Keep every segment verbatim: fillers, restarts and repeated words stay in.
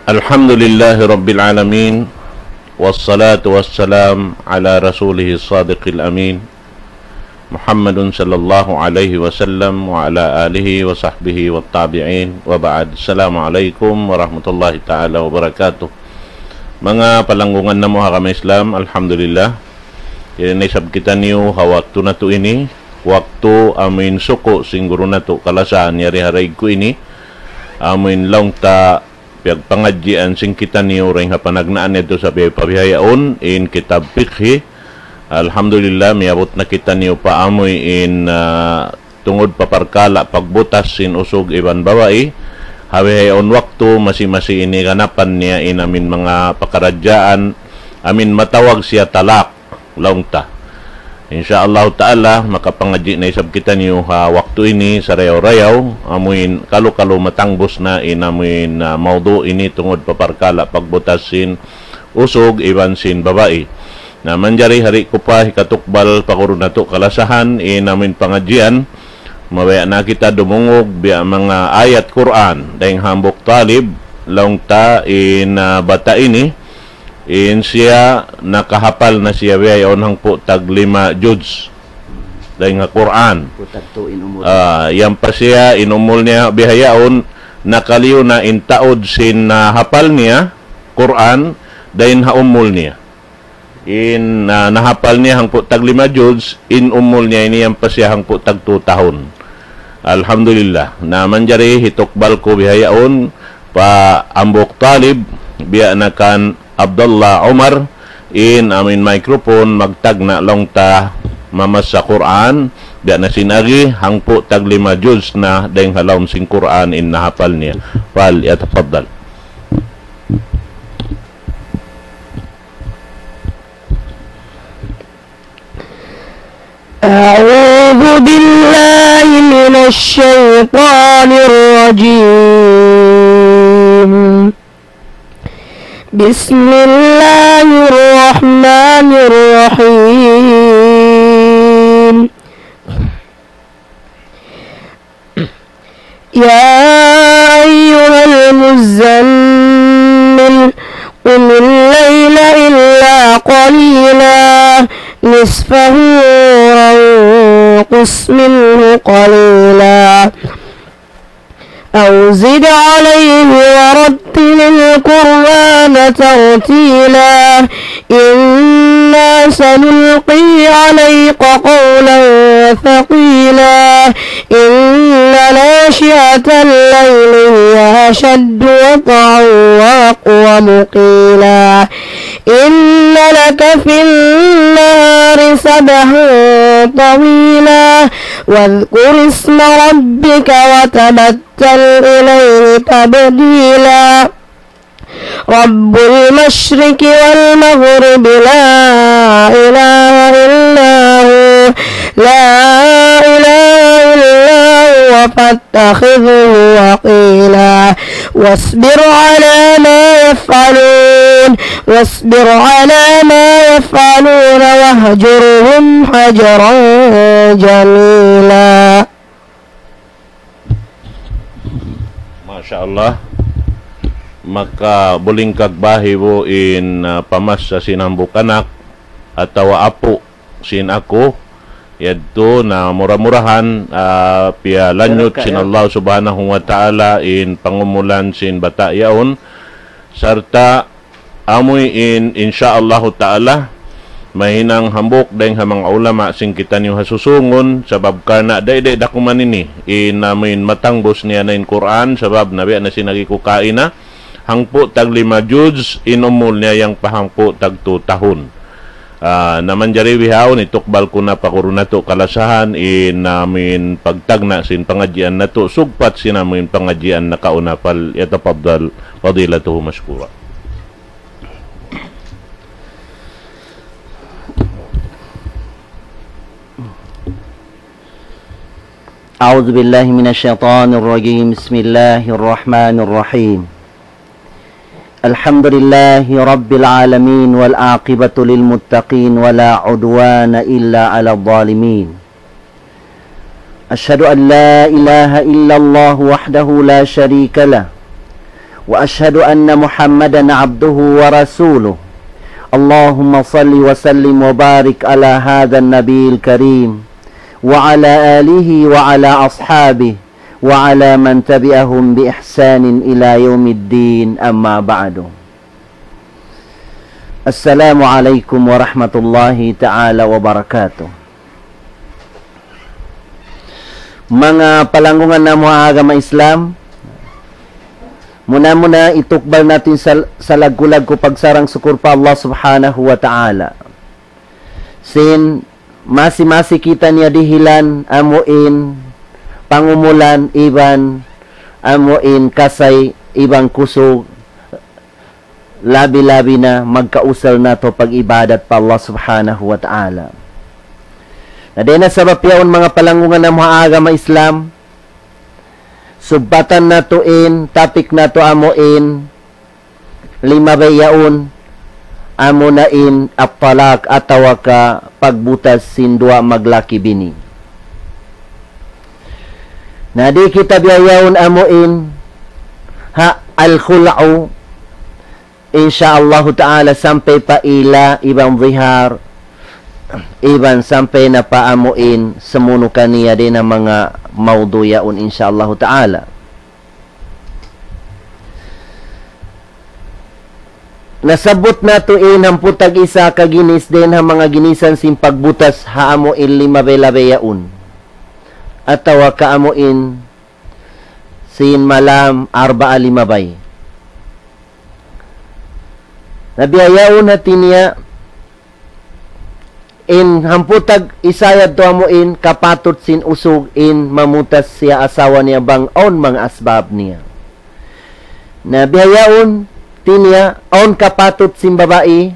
الحمد لله رب العالمين، والصلاة والسلام على رسوله الصادق الأمين، محمد صلى الله عليه وسلم وعلى آله وصحبه والتابعين، وبعد. السلام عليكم ورحمة الله تعالى وبركاته. Manga palanggungan namu' ha agama Islam, alhamdulillah. Yari na isab kitaniyu ha waktu natu' ini, waktu amuin suku' sin guru natu' kalasahan yari ha daig ku ini, amuin laung ta piyagpangadjian sin kitaniyu dayn ha panagnaan yadtu sa biya' pa bihaun in kitab fiqhi. Alhamdulillah, miyabut na kitaniyu pa amuin, ah, tungud pa parkala' pagbutas sin usug iban babai. Ha bihaun waktu masi-masi ini ganapan niya in amuin manga pakaradjaan, amuin matawag siya talak. Laung ta. Insya Allah Ta'ala, makapangadji' na isab kitaniyu ha waktu ini sarayaw-rayaw, amuin kalu-kalu matangbus na in amuin, ah, mawdu' ini tungud pa parkala' pagbutas sin usug iban sin babai. Na manjari ha di' ku pa hikatukbal pa guru natu' kalasahan in amuin pangadjian, mabaya' na kita dumungug biya' manga ayat Qur'an, dayn hambuuk talib, laung ta in, ah, bata' ini, in siya nakahapal na siya bihaun hangpu' tag lima juz dayn ha Qur'an. Hangpu' tag tu in umul. Ah, yan pa siya in umul niya bihaun, nakaliyu na in taud sin, ah, hapal niya Qur'an dayn ha umul niya. In, ah, nahapal niya hangpu' tag lima juz, in umul niya ini yan pa siya hangpu' tag tu tahun. Alhamdulillah. Na manjari hitukbal ku bihaun pa hambuuk talib, biya' na kan Abdullah Umar, in amuin microphone, magtagna' laung ta mamassa Qur'an, biya' na sin agi, hangpu' tag lima juz na dayn ha lawm sin Qur'an in nahapal niya. Fal yatafaddal. أعوذ بالله من الشيطان الرجيم. بسم الله الرحمن الرحيم. يا أيها المزمل، قم الليل إلا قليلا، نصفه أو انقص منه قليلا، أو زد عليه ورتل القرآن ترتيلا. إنا سنلقي عليك قولا ثقيلا. إن ناشئة الليل هي أشد وطئا وأقوم قيلا. إن لك في النهار سبحا طويلا. واذكر اسم ربك وتبتل إليه تبتيلا. رب المشرق والمغرب لا إله إلا هو، لا إله إلا هو فاتخذه وكيلا. واصبر على ما يفعلون، واصبر على ما يفعلون واهجرهم هجرا جميلا. Masha Allah. Maka buling kag bahi bu in, ah, pamassa sin hambuuk anak atawa apu' sin aku. Yadtu na mura-murahan, ah, piyalanyut sin Allah Subhanahu wa Ta'ala in pangumulan sin bata' yaun. Sarta' amuin, insya Allahu Ta'ala, mahinang hambuuk dayn ha manga ulama sin kitaniyu ha susungun, sabab karna' dayday da kuman ini, in amuin matangbus niya na in Qur'an, sabab nabi na sin agi ku kaina, hangpu' tag lima juz, in umul niya yan pa hangpu' tag tu tahun. Ah, na manjari bihaun, itukbal ku na pa guru natu' kalasahan, in amuin pagtagna' sin pangadjian natu', sugpat sin amuin pangadjian nakauna, fal yatafaddal fadilatuhu mashkura. أعوذ بالله من الشيطان الرجيم. بسم الله الرحمن الرحيم. الحمد لله رب العالمين، والعاقبة للمتقين، ولا عدوان إلا على الظالمين. أشهد أن لا إله إلا الله وحده لا شريك له، وأشهد أن محمدا عبده ورسوله. اللهم صل وسلم وبارك على هذا النبي الكريم وعلى آله وعلى أصحابه وعلى من تبعهم بإحسان إلى يوم الدين، أما بعد. السلام عليكم ورحمة الله تعالى وبركاته. Manga palanggungan namu' ha agama Islam, muna-muna itukbal natu' in sal-, salaggu'-laggu' pagsarang-sukul pa Allah Subhanahu wa Ta'ala. Sin masi-masi kitaniya dihilan amu in pangumulan iban amu in kasay iban kusug, labi-labi na magkausal natu' pag-ibadat pa Allah Subhanahu wa Ta'ala. Na dayn ha sabab yaun, manga palanggungan namu' ha agama Islam, subbatan natu' in topic natu' amu in limabay yaun, amu na in at-talaq atawa ka pagbutas sin duwa maglaki-bini. Na di' kita bihaun amu in ha al-khul'u, insya Allahu Ta'ala, sampay pa ila iban zihar, iban sampay na pa amu in sumunu' kaniya dayn ha manga mawdu' yaun, insya Allahu Ta'ala. Nasabbut natu' in hangpu' tag-isa ka ginis dayn ha manga ginisan sin pagbutas ha amu in limabay-labay yaun, atawa ka amu in sin malam arba'a limabay. Na bihaun hati niya, in hangpu' tag-isa yadtu amu in kapatut sin usug in mamutas siya asawa niya bang awn manga asbab niya. Na bihaun hati niya, awn kapatut sin babai,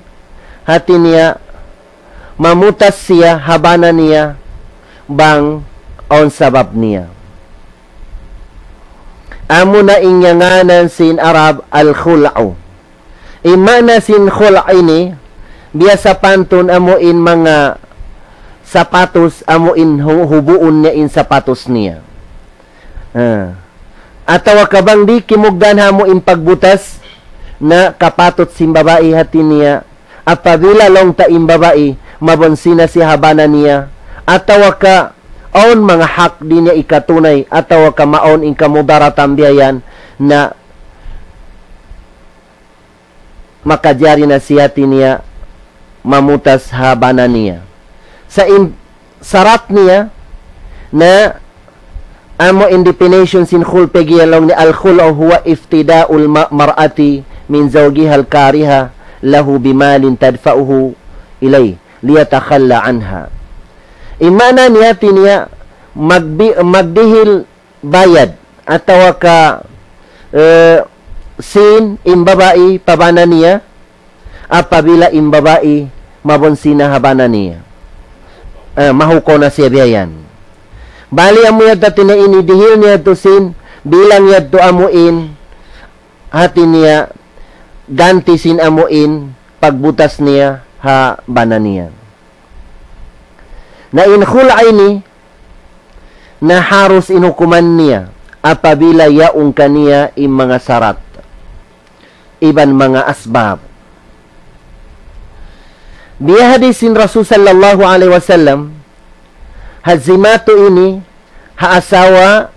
hati niya, mamutas siya ha bana niya bang awn sabab niya. Amu na in ngānan sin Arab al-khul'u. In maana sin khul' ini, biya' sapantun amu in manga sapatus, amu in hu-, hubuun niya in sapatus niya. Ah. Atawa ka bang di' kimugdan ha amu in pagbutas, na kapatut sin babai hati niya, apabila laung ta in babai, mabunsi na siya ha bana niya, atawa ka awn manga hak di' niya ikatunay, atawa ka maawn in kamudaratan biya' yan, na makajari na siya hati niya mamutas ha bana niya. Sa' in sarat niya na amu in definition sin khul' pag'iyan laung niya, الخلع هو افتداء المرأة من زوجها الكاره له بمال تدفعه إليه ليتخلى عنها. In maana niya hati niya magbi-, magdihil bayad atawa ka, eh, sin in babai pa bana niya, apabila in babai mabunsi na ha bana niya. Eh, mahukaw na siya biya' yan. Bali amu yadtu hati niya ini dihil niya yadtu sin, bilang yadtu amu in, hati niya ganti sin amu in pagbutas niya ha bana niya. Na in khul' ini, na harus in hukuman niya apabila yaun kaniya in manga sarat iban manga asbab. Biya' hadis sin Rasul sallallahu alayhi wasallam, ha zimatu ini ha asawa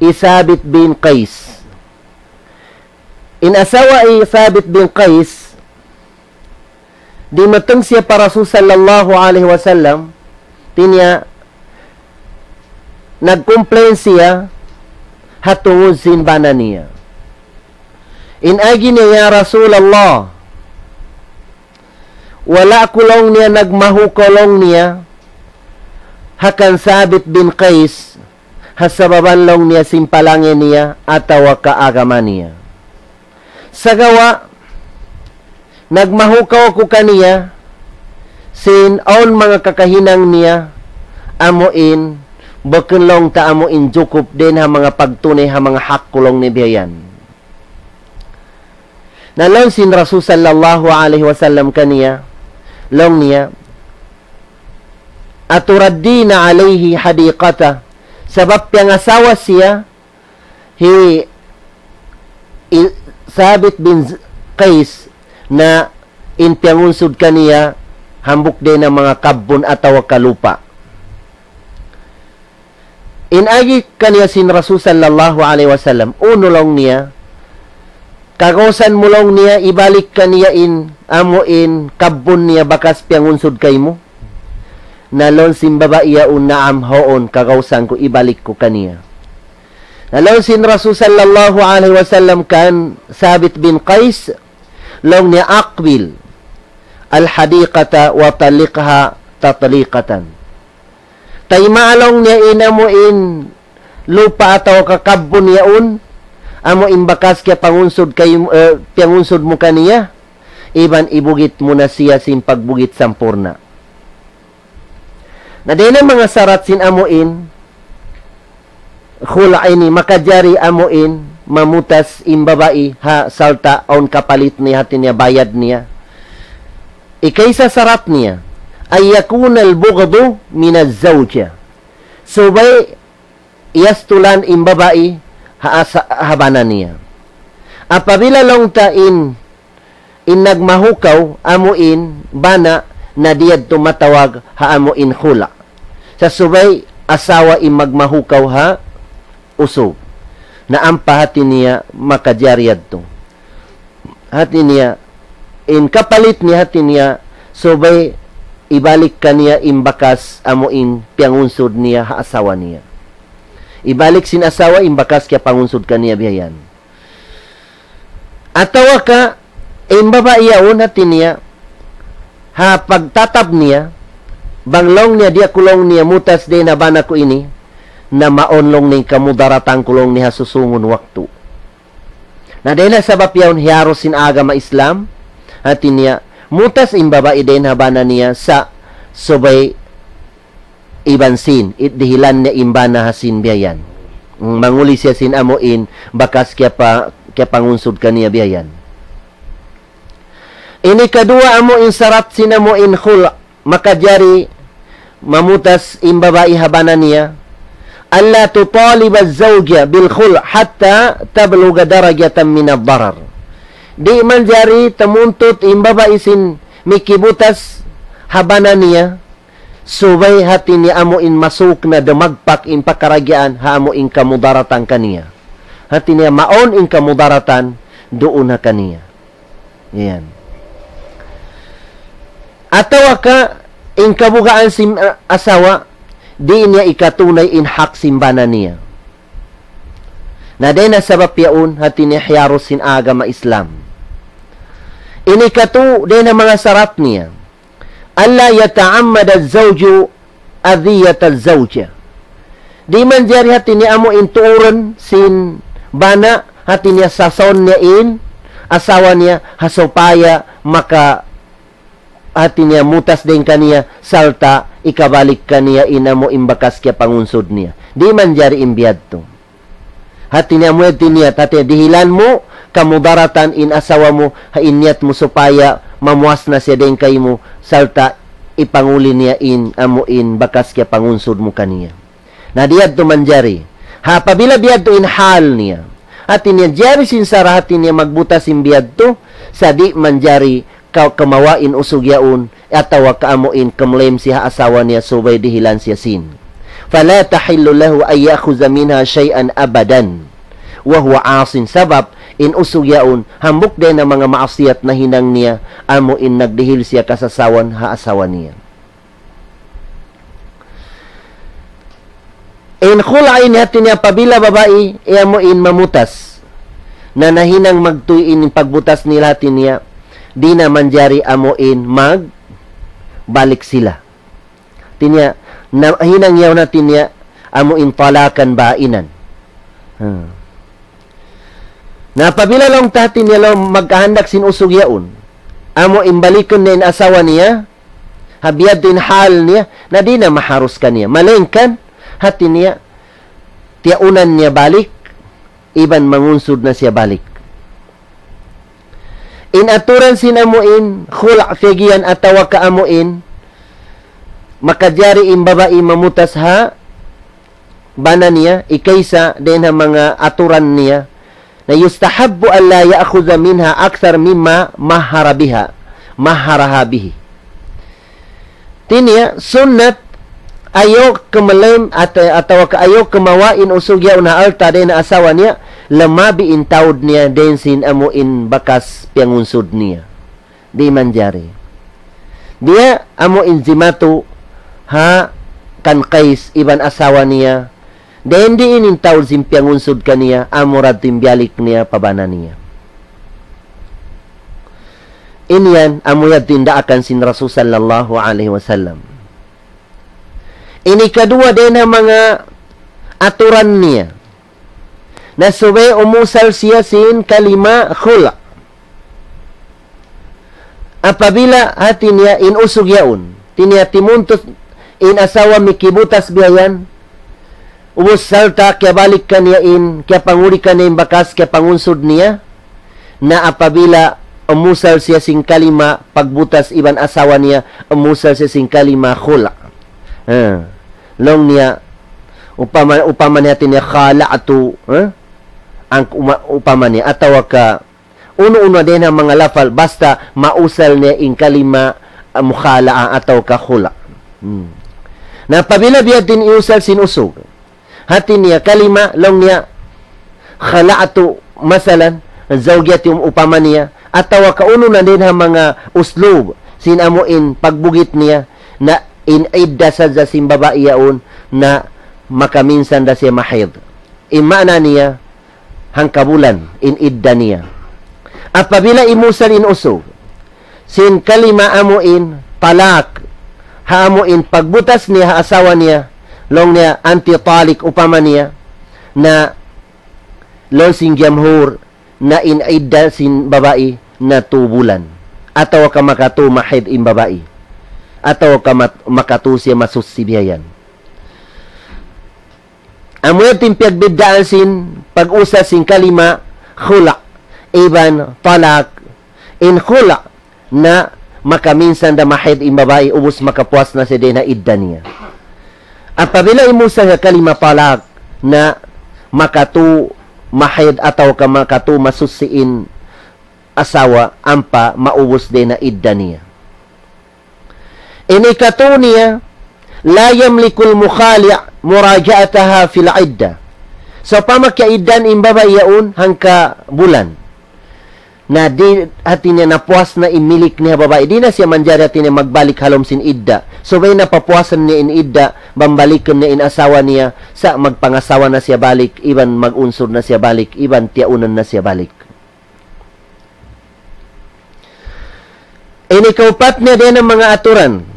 hi Sabit bin Qais. In asawa hi Sabit bin Qais, dimatung siya pa Rasul sallallahu alayhi wasallam, hati niya nag-complain siya ha tungud sin bana niya. In agi niya, "Ya Rasulullah, wala' aku," laung niya, "nagmahukaw," laung niya, "ha kan Sabit bin Qais, ha sababan," laung niya, "sin palangga' niya atawa ka agama niya. Sagawa' nagmahukaw aku kaniya sin awn manga kakahinang niya, amu in bukun," laung ta, "amu in jukup dayn ha manga pagtunay ha manga hak ku," laung niya biya' yan. Na laung sin Rasul sallallahu alayhi wasallam kaniya, laung niya, "أتردين عليه حديقته؟" Sabab piyangasawa siya hi, hi, Sabit bin Z-, Qais na in piyangunsud kaniya hambuuk dayn ha manga kabbun atawa ka lupa'. In agi kaniya sin Rasul sallallahu alayhi wasallam, unu laung niya, kagausan mu laung niya, ibalik kaniya in, amu in, kabbun niya bakas piyangunsud kaymu? Na laung sin babai yaun, naam, huun, kagausan ku, ibalik ku kaniya. Na laung sin Rasul sallallahu alayhi wasallam kan Sabit bin Qais, laung niya, أقبل الحديقة وطلقها تطليقة. Taymaa laung niya in amu in lupa' atawa ka kabbun yaun, amu in bakas kiyapangunsud kay, eh, piyangunsud mu kaniya, iban ibugit mu na siya sin pagbugit sampurna'. Na dayn ha manga sarat sin amu in khul' ini, makajari amu in mamutas in babai ha sarta' awn kapalit niya, hati niya bayad niya. Ikaisa sarat niya, أن يكون البغض من الزوجة. Subay iyastulan in babai ha asa-, ha bana niya. Apabila laung ta in, in nagmahukaw, amu in bana, na di' yadtu matawag ha amu in khul'. Sa' subay asawa in magmahukaw ha usug. Na ampa hati niya makajari yadtu. Hati niya, in kapalit niya, hati niya, subay ibalik kaniya in bakas amu in piyangunsud niya ha asawa niya. Ibalik sin asawa in bakas kiyapangunsud kaniya biya' yan. Atawa ka, in babai yaun, hati niya, ha pagtatab niya, bang laung niya, di' aku laung niya mutas dayn ha bana ku ini, na mawn laung niya in kamudaratan ku laung niya ha susungun waktu. Na dayn ha sabab yaun hiyarus sin agama Islam, hati niya, mutas in babai dayn ha bana niya sa' subay iban sin, it dihilan niya in bana ha sin biya' yan. Mm, manguli siya sin amu in, bakas kiyapa-, kiyapangunsud kaniya biya' yan. Ini kaduwa amu in sarat sin amu in khul', makajari mamutas in babai ha bana niya, ألا تطالب الزوجة بالخلع حتى تبلغ درجة من الضرر. Di' manjari tamuntut in babai sin mikibutas ha bana niya, subay hati niya amu in masuk na dumagpak in pakaragyaan ha amu in kamudaratan kaniya. Hati niya mawn in kamudaratan duun ha kaniya. Yan. Atawa ka in kabugaan sin, ah, asawa, di' niya ikatunay in hak sin bana niya. Na dayn ha sabab yaun, hati niya hiyarus sin agama Islam. Ini katu, dayn ha manga sarat niya. ألا يتعمد الزوج أذية الزوجة. Di' manjari hati niya amu in tuurun sin bana, hati niya sasaun niya in asawa niya, ha supaya maka hati niya mutas dayn kaniya, sarta' ikabalik kaniya in amu in bakas kiyapangunsud niya. Di' manjari in biya' yadtu. Hati niya amu yadtu in niyat, hati niya dihilan mu kamudaratan in asawa mu, ha in niyat mu supaya mamuas na siya dayn kaymu, sarta' ipanguli niya in amu in bakas kiyapangunsud mu kaniya. Na di' yadtu manjari. Ha, apabila biya' yadtu in hal niya. Hati niya jari sin sara' hati niya magbutas in biya' yadtu, sa' di' manjari ka-, kamawa' in usug yaun, atawa ka amu in kumlaim siya ha asawa niya subay dihilan siya sin. فلا تحل له أن يأخذ منها شيئا أبدا وهو عاص. Sabab, in usug yaun, hambuuk dayn ha manga maasiyat nahinang niya, amu in nagdihil siya kasasawan ha asawa niya. In khul' ini hati niya apabila babai, iya amu in mamutas. Na nahinang magtuy in pagbutas nila hati niya, di' na manjari amu in magbalik sila. Hati niya, nahinang yaun hati niya, amu in talakan bainan. Hmm. Na apabila laung ta hati niya laung magkahandak sin usug yaun, amu in balikun niya in asawa niya, ha biya' yadtu in hal niya, na di' na maharus kaniya. Malayngkan, hati niya, tiyaunan niya balik, iban mangunsud na siya balik. In aturan sin amu in, khul' figiyan atawa ka amu in, makajari in babai mamutas ha bana niya, ikaisa dayn ha manga aturan niya, Na يستحب ألا يأخذ منها أكثر مما مهر بها، مهرها به. Hati niya, sunnat, ayaw kamalem at-, atawa ka ayaw kamawa' in usug yaun ha alta' dayn ha asawa niya, lamabi in taud niya dayn sin amu in bakas piyangunsud niya. Di' manjari. Biya' amu in jimatu ha kan Qais iban asawa niya. Dayn di' in taud sin piyangunsud kaniya, amura in biyalik niya pa bana niya. Ini yan, amu yadtu in daakan sin Rasul sallallahu alayhi wasallam. Ini kaduwa dayn ha manga aturan niya. Na subay umusal siya sin kalima khul'. Apabila hati niya in usug yaun, hati niya timuntut in asawa mikibutas biya' yan, ubus sarta' kiyabalik kaniya in, kiyapanguli kaniya in bakas kiyapangunsud niya, na apabila umusal siya sin kalima pagbutas iban asawa niya, umusal siya sin kalima khul'. Ha. Laung niya, upama, upama niya hati niya khala'tu, ha? Ang uma-, upama niya, atawa ka, unu-unu dayn ha manga lafal, basta mausal niya in kalima, ah, mukhala'a atawa ka khula'. Hmm. Na apabila biya' diin in usal sin usug. Hati niya kalima, laung niya, khala'tu, masalan, zawjati, um, upama niya, atawa ka unu na dayn ha manga uslub, sin amu in pagbugit niya, na in idda sadja sin babai yaun, na makaminsan da siya mahid. In maana niya, hangkabulan in idda niya. Apabila imusal in usug sin kalima amu in talak, ha amu in pagbutas niya ha asawa niya, laung niya anti talik upama niya, na laung sin jamhur, na in idda sin babai na tu bulan. Atawa ka makatu mahid in babai. Atawa ka mat-, makatu siya masusi biya' yan. Amu yadtu in piyagbiddaan sin pag-usal sin kalima khula' iban talak. In khula' na makaminsan da mahid in babai ubus makapuas na siya dayn ha idda niya. Apabila imusal ha kalima talak na makatu mahid atawa ka makatu masusi in asawa ampa maubus dayn ha idda niya. In ikatu niya, لا يملك المخالع مراجعتها في العدة. Sawpama kiyaiddan in babai yaun hangkabulan. Na di' hati niya napuas na in milik niya babai. Di' na siya manjari hati niya magbalik ha lawm sin idda. Subay na papuasan niya in idda, bambalikan niya in asawa niya, sa' magpangasawa na siya balik, iban mag-unsud na siya balik, iban tiyaunan na siya balik. Ini kaupat niya dayn ha manga aturan.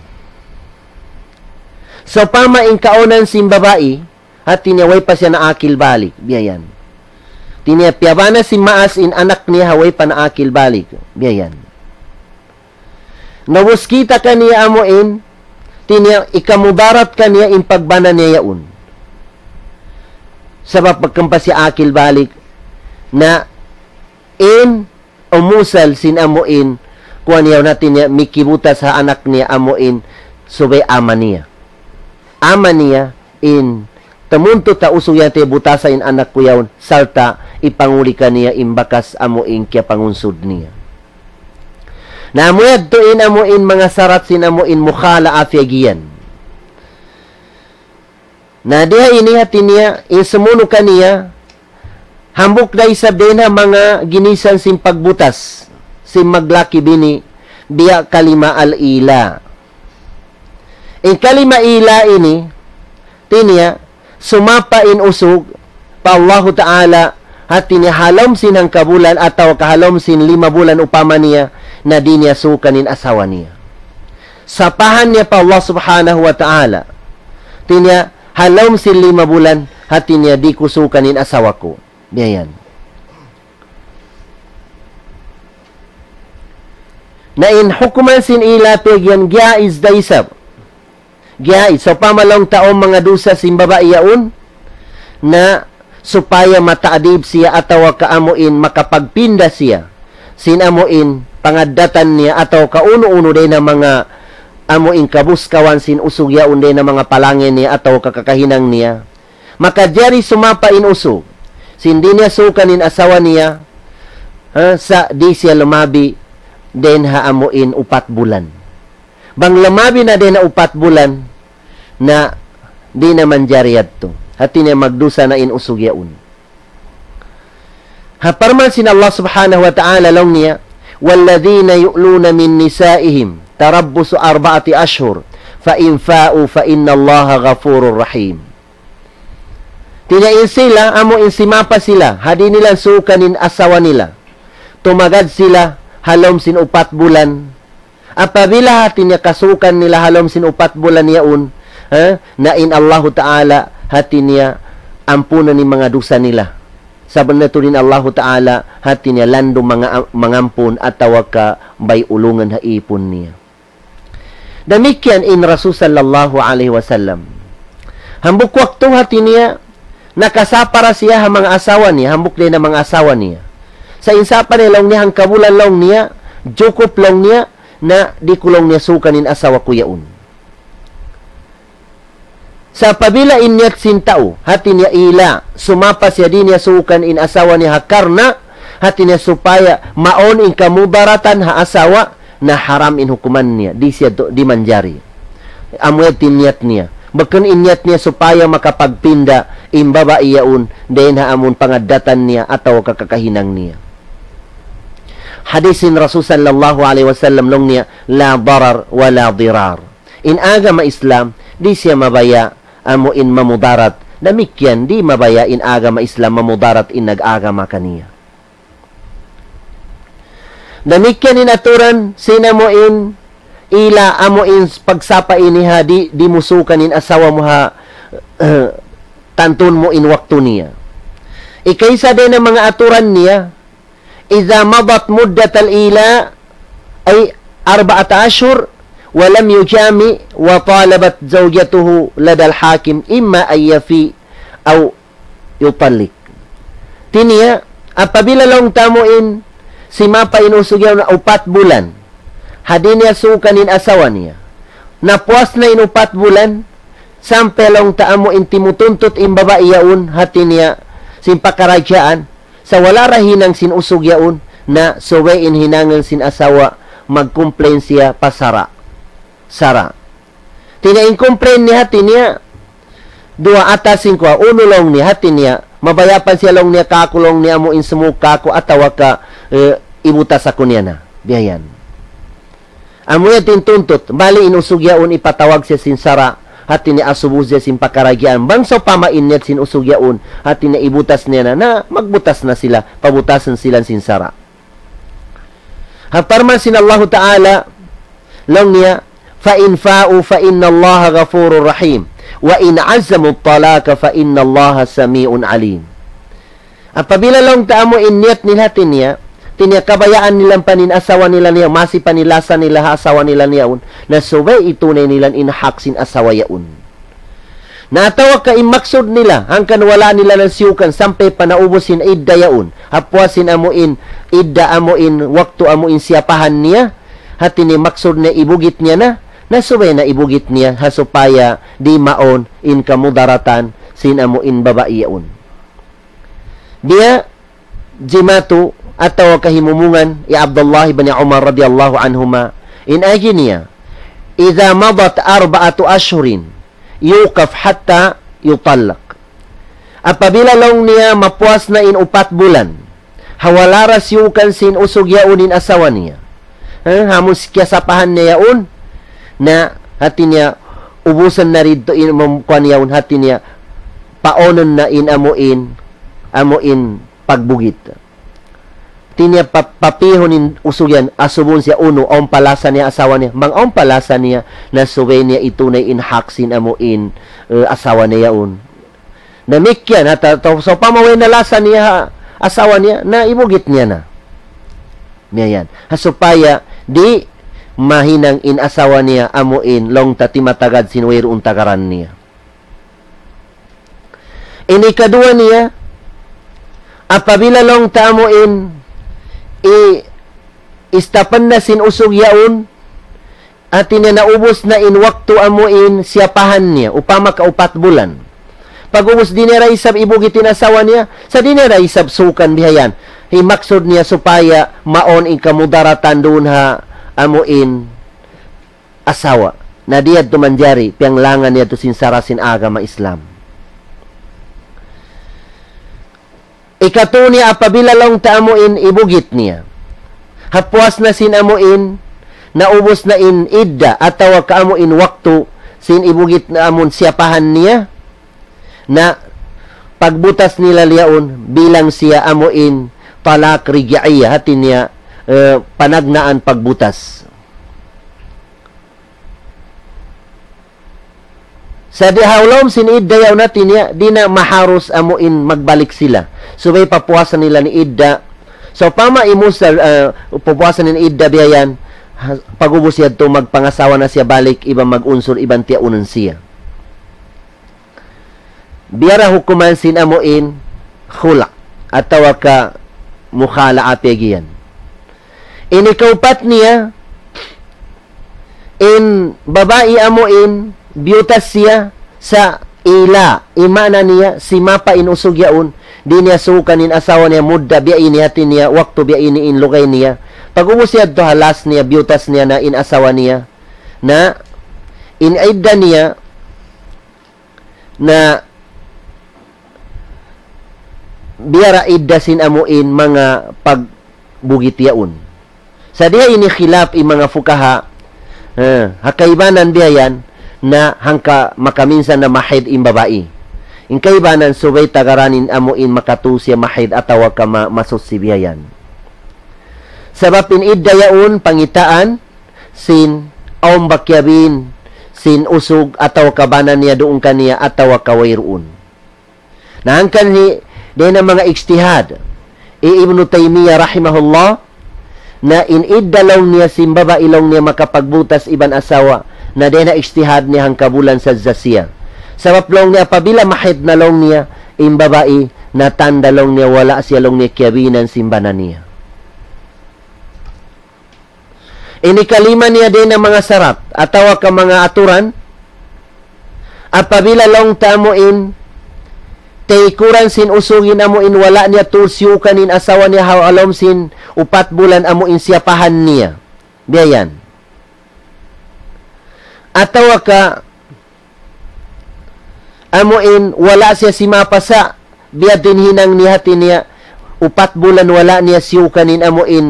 Sawpama in kaunan sin babai, hati niya way pa siya naakil balik, biya' yan. Hati niya piyabana sin maas in anak niya ha way pa naakil balik, biya' yan. Na ubus kita' kaniya amu in, hati niya ikamudarat kaniya in pagbana niya yaun. Sabab pagka ampa siya akil balik, na in umusal sin amu in, kuwan yaun hati niya, mikibutas ha anak niya amu in, subay ama niya. Ama niya in, tamuntu ta usug yan te butasa in anak ku yaun, sarta' ipanguli kaniya in bakas amu in kiyapangunsud niya. Na amu yadtu in amu in manga sarat sin amu in mukhala'a piyag'iyan. Na diha ini hati niya, in sumunu' kaniya, hambuuk da isab dayn ha manga ginisan sin pagbutas, sin maglaki-bini, biya' kalima al-ila. In kalima ila ini, hati niya, sumapa in usug, pa Allahu Ta'ala, hati niya ha lawm sin hangkabulan atawa ka ha lawm sin lima bulan upama niya, na di' niya suukan in asawa niya. Sapahan niya pa Allah Subhanahu wa Ta'ala. Hati niya, ha lawm sin lima bulan, hati niya di' ku suukan in asawa ku. Biya' yan. Na in hukuman sin ila piyag'iyan jaiz da isab. Jaiz, sawpama laung ta awn manga dusa sin babai yaun, na supaya mata'dib siya atawa ka amu in makapagpinda siya sin amu in pangaddatan niya atawa ka unu-unu dayn ha manga amu in kabuskawan sin usug yaun dayn ha manga palangga niya atawa ka kakahinang niya. Makajari sumapa in usug. sin di' niya suukan in asawa niya, ha, sa' di' siya lumabi dayn ha amu in upat bulan. Bang lumabi na dayn ha upat bulan, na di' na manjari yadtu. Hati niya magdusa na in usug yaun. Ha parman sin Allah Subhanahu wa Ta'ala laung niya, والذين يؤلون من نسائهم تربص أربعة أشهر فإن فاءوا فإن الله غفور رحيم. Hati niya in sila, amu in simapa sila, ha di' nila suukan in asawa nila. Tumagad sila, ha lawm sin upat bulan. Apabila hati niya kasuukan nila ha lawm sin upat bulan yaun, ha? Na in Allahu Ta'ala hati niya ampunan in manga dusa nila. Sabunnal tuud in Allahu Ta'ala hati niya landu' manga-, mangampun atawa ka bay ulungan ha ipun niya. Damikkiyan in Rasul sallallahu alayhi wasallam. Hambuuk waktu hati niya, nakasapara siya ha manga asawa niya, hambuuk dayn ha manga asawa niya. Sa' in sapara niya laung niya, hangkabulan laung niya, jukup laung niya, na di' ku laung niya suukan in asawa ku yaun. Sa' apabila in niyat sin tau, hati niya ila, sumapa siya di' niya suukan in asawa niya ha karna', hati niya supaya mawn in kamudaratan ha asawa, na haram in hukuman niya, di' siya tu-, di' manjari. Amu yadtu in niyat niya. Bukun in niyat niya supaya makapagpinda in babai yaun, dayn ha amun pangaddatan niya atawa ka kakahinang niya. Hadis sin Rasul sallallahu alayhi wasallam laung niya, لا ضرر ولا ضرار. In agama Islam, di' siya mabaya' amu in mamudarat. Damikkiyan, di' mabaya' in agama Islam mamudarat in nag-agama kaniya. Damikkiyan in aturan, sin amu in ila, amu in pagsapa ini ha, di', di' mu suukan in asawa mu ha, tantu mu in waktu niya. Ikaisa dayn ha manga aturan niya, إذا مضت مدة الإيلاء، أي أربعة أشهر، ولم يجامع وطالبت زوجته لدى الحاكم إما أن يفيء أو يطلق. Hati niya, apabila laung ta amu in, simapa in usug yaun upat bulan, ha di' niya suukan in asawa niya. Napuas na in upat bulan, sampay laung ta amu in timutuntut in babai yaun, hati niya, sin pakaradjaan, sa' wala' da hinang sin usug yaun, na subay in hinangun sin asawa, mag-complain siya pa sara'. Sara'. Hati niya in complain niya hati niya, duwa atawa singko, unu laung niya hati niya, mabaya' pa siya laung niya kāku' laung niya amu in sumūng kāku' atawa ka, eh, ibutas aku niya na. Biya' yan. Amu yan in tuntut, bali in usug yaun ipatawag siya sin sara', hati niya asubu siya sin pakaradjaan. Bang sawpama in niyat sin usug yaun, hati niya ibutas niya na, na magbutas na sila, pabutasan sila sin sara'. Ha parman sin Allahu Ta'ala, laung niya, فإن فاءوا فإن الله غفور رحيم وإن عزموا الطلاق فإن الله سميع عليم. Apabila laung ta amu in niyat nila hati niya, hati niya kabayaan nila pa in asawa nila niya, masi pa in lasa nila ha asawa nila niya yaun, na subay itunay nila in hak sin asawa yaun. Na atawa ka in maksud nila, hangkan wala' nila na siyukan sampay pa naubus in idda yaun. Ha puas sin amu in idda amu in waktu amu in siyapahan niya, hati niya maksud niya ibugit niya na, na subay na ibugit niya, ha supaya di' mawn in kamudaratan sin amu in babai yaun. Biya' jimatu atawa kahimumungan hi Abdullah ibn Umar radiyallahu anhuma, in agi niya, إذا مضت أربعة أشهر يوقف حتى يطلق. Apabila laung niya mapuas na in upat bulan, ha wala' da siyukan sin usug yaun in asawa niya. Ha, amu in kiyasapahan niya yaun, na hati niya ubusan na didtu in mem-, kuwan yaun hati niya, paunun na in amu in, amu in pagbugit. Hati niya pa-, papihun in usug yan, asubun siya unu, awn pa lasa niya asawa niya. Bang awn pa lasa niya, na subay niya itunay in hak sin amu in, eh, asawa niya yaun. Damikkiyan, ha ta-, ta-, sawpama way na lasa niya ha asawa niya, na ibugit niya na. Biya' yan. Ha supaya di' mahinang in asawa niya amu in laung ta timatagad sin wayruun tagaran niya. In hikaduwa niya, apabila laung ta amu in i-, istapan na sin usug yaun, hati niya naubus na in waktu amu in siyapahan niya, upama ka upat bulan. Pag'ubus di' niya da isab ibugit in asawa niya, sa' di' niya da isab suukan bihayan. Himaksud niya supaya mawn in kamudaratan duun ha amuin asawa. Na di' yadtu manjari, piyanglangan niya yadtu sin sara' sin agama Islam. Ikatu niya apabila laung ta amuin ibugit niya. Hapuas na sin amuin, naubus na in idda atawa ka amuin waktu sin ibugit na amun siyapahan niya, na pagbutas nila liyaun bilang siya amuin talak rij'iyya, hati niya, eh, panagnaan pagbutas. Sa' di' ha lawm sin idda yaun, hati niya, di' na maharus amuin magbalik sila. Subay papuasan nila in idda. Sawpama imusal, ah, papuasan in idda bihayan, ha, pag'ubus yadtu magpangasawa na siya balik, iban mag-unsur, iban tiyaunan siya. Biya' da hukuman sin amuin khula' atawa ka mukhala'a piyag'iyan. Ini kaupat niya, in babai amuin biyutas siya sa' ila, in maana niya, simapa in usug yaun, di' niya suukan in asawa niya mudda biya' ini, hati niya, waktu biya' ini in lugay niya. Pag'ubus yadtu halas niya, biyutas niya na in asawa niya. Na, in idda niya, na biya' da idda sin amuin manga pagbugit yaun. Sa' di' ha ini khilaf in manga fukaha, eh, ha kaibanan bihayan na hangka makaminsan na mahaid in babai. In kaibanan subay tagaran in amuin makatu siya mahaid atawa ka ma-, masuchi bihayan. Sabab in idda yaun pangitaan sin awn ba kiyabin sin usug atawa ka bana niya duun kaniya atawa ka wayruun. Na hangkan hi, dayn ha manga ijtihad hi Ibnu Taymiyyah rahimahullah, na in idda laung niya sin babai laung niya makapagbutas iban asawa, na dayn ha ijtihad niya hangka bulan sadja siya. Sabab laung niya apabila mahaid na laung niya in babai, na tanda laung niya wala' siya laung niya kiyabinan sin bana niya. Ini kalima niya dayn ha manga sarat atawa ka manga aturan, apabila laung ta amuin taykuran sin usug in amuin wala' niya tuud siyukan in asawa niya ha lawm sin upat bulan amuin siyapahan niya. Biya' yan. Atawa ka amuin wala' siya simapa sa' biya' diin hinang niya, hati niya, upat bulan wala' niya siyukan in amuin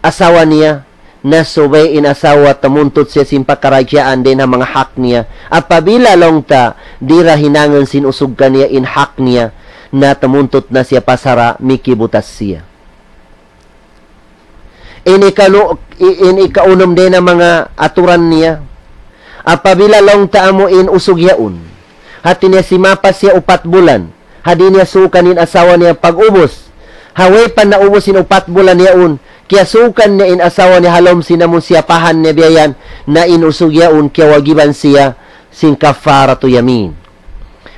asawa niya, na subay in asawa tamuntut siya sin pakaradjaan dayn ha manga hak niya. Apabila laung ta di' da hinangun sin usug kaniya in hak niya, na tamuntut na siya pa sara', mikibutas siya. Ini kanu-, i-, ini kaunum dayn ha manga aturan niya. Apabila laung ta amuin usug yaun, hati niya simapa siya upat bulan, ha di' niya suukan in asawa niya pag'ubus, ha way pa naubus in upat bulan yaun, kiyasuukan niya in asawa niya ha lawm sin amun siyapahan niya biya' yan, na in usug yaun kiyawajiban siya sin kafaratu yamin.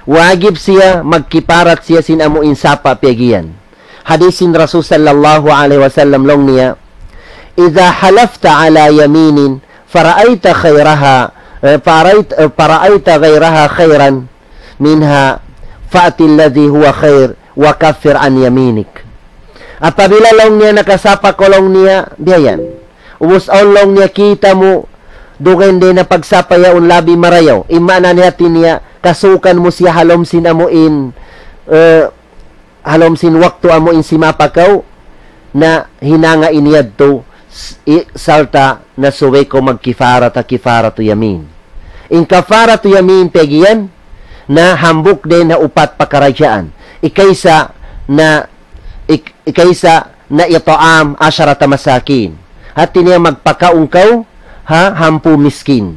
Wajib siya magkifarat siya sin amuin sapa' piyag'iyan. Hadis sin Rasul sallallahu alayhi wasallam laung niya, إذا حلفت على يمين فرأيت خيرها، eh, فرأيت، eh, فرأيت غيرها خيرا منها فأت الذي هو خير وكفر عن يمينك. Apabila laung niya nakasapa kaw laung niya, biya' yan. Ubus awn laung niya kita' mu, dugaing dayn ha pagsapa yaun labi marayaw. In maana niya, hati niya, kasuukan mu siya ha lawm sin amuin, eh, ha lawm sin waktu amuin simapa kaw, na hinanga in yadtu, s-, i-, sarta' na subay kaw magkifarat ha kifaratu yamin. In kafaratu yamin piyag'iyan, na hambuuk dayn ha upat pakaradjaan. Ikaisa na, ik-, ikaisa na it'am asharata masakin. Hati niya magpakaun kaw ha hangpu' miskin.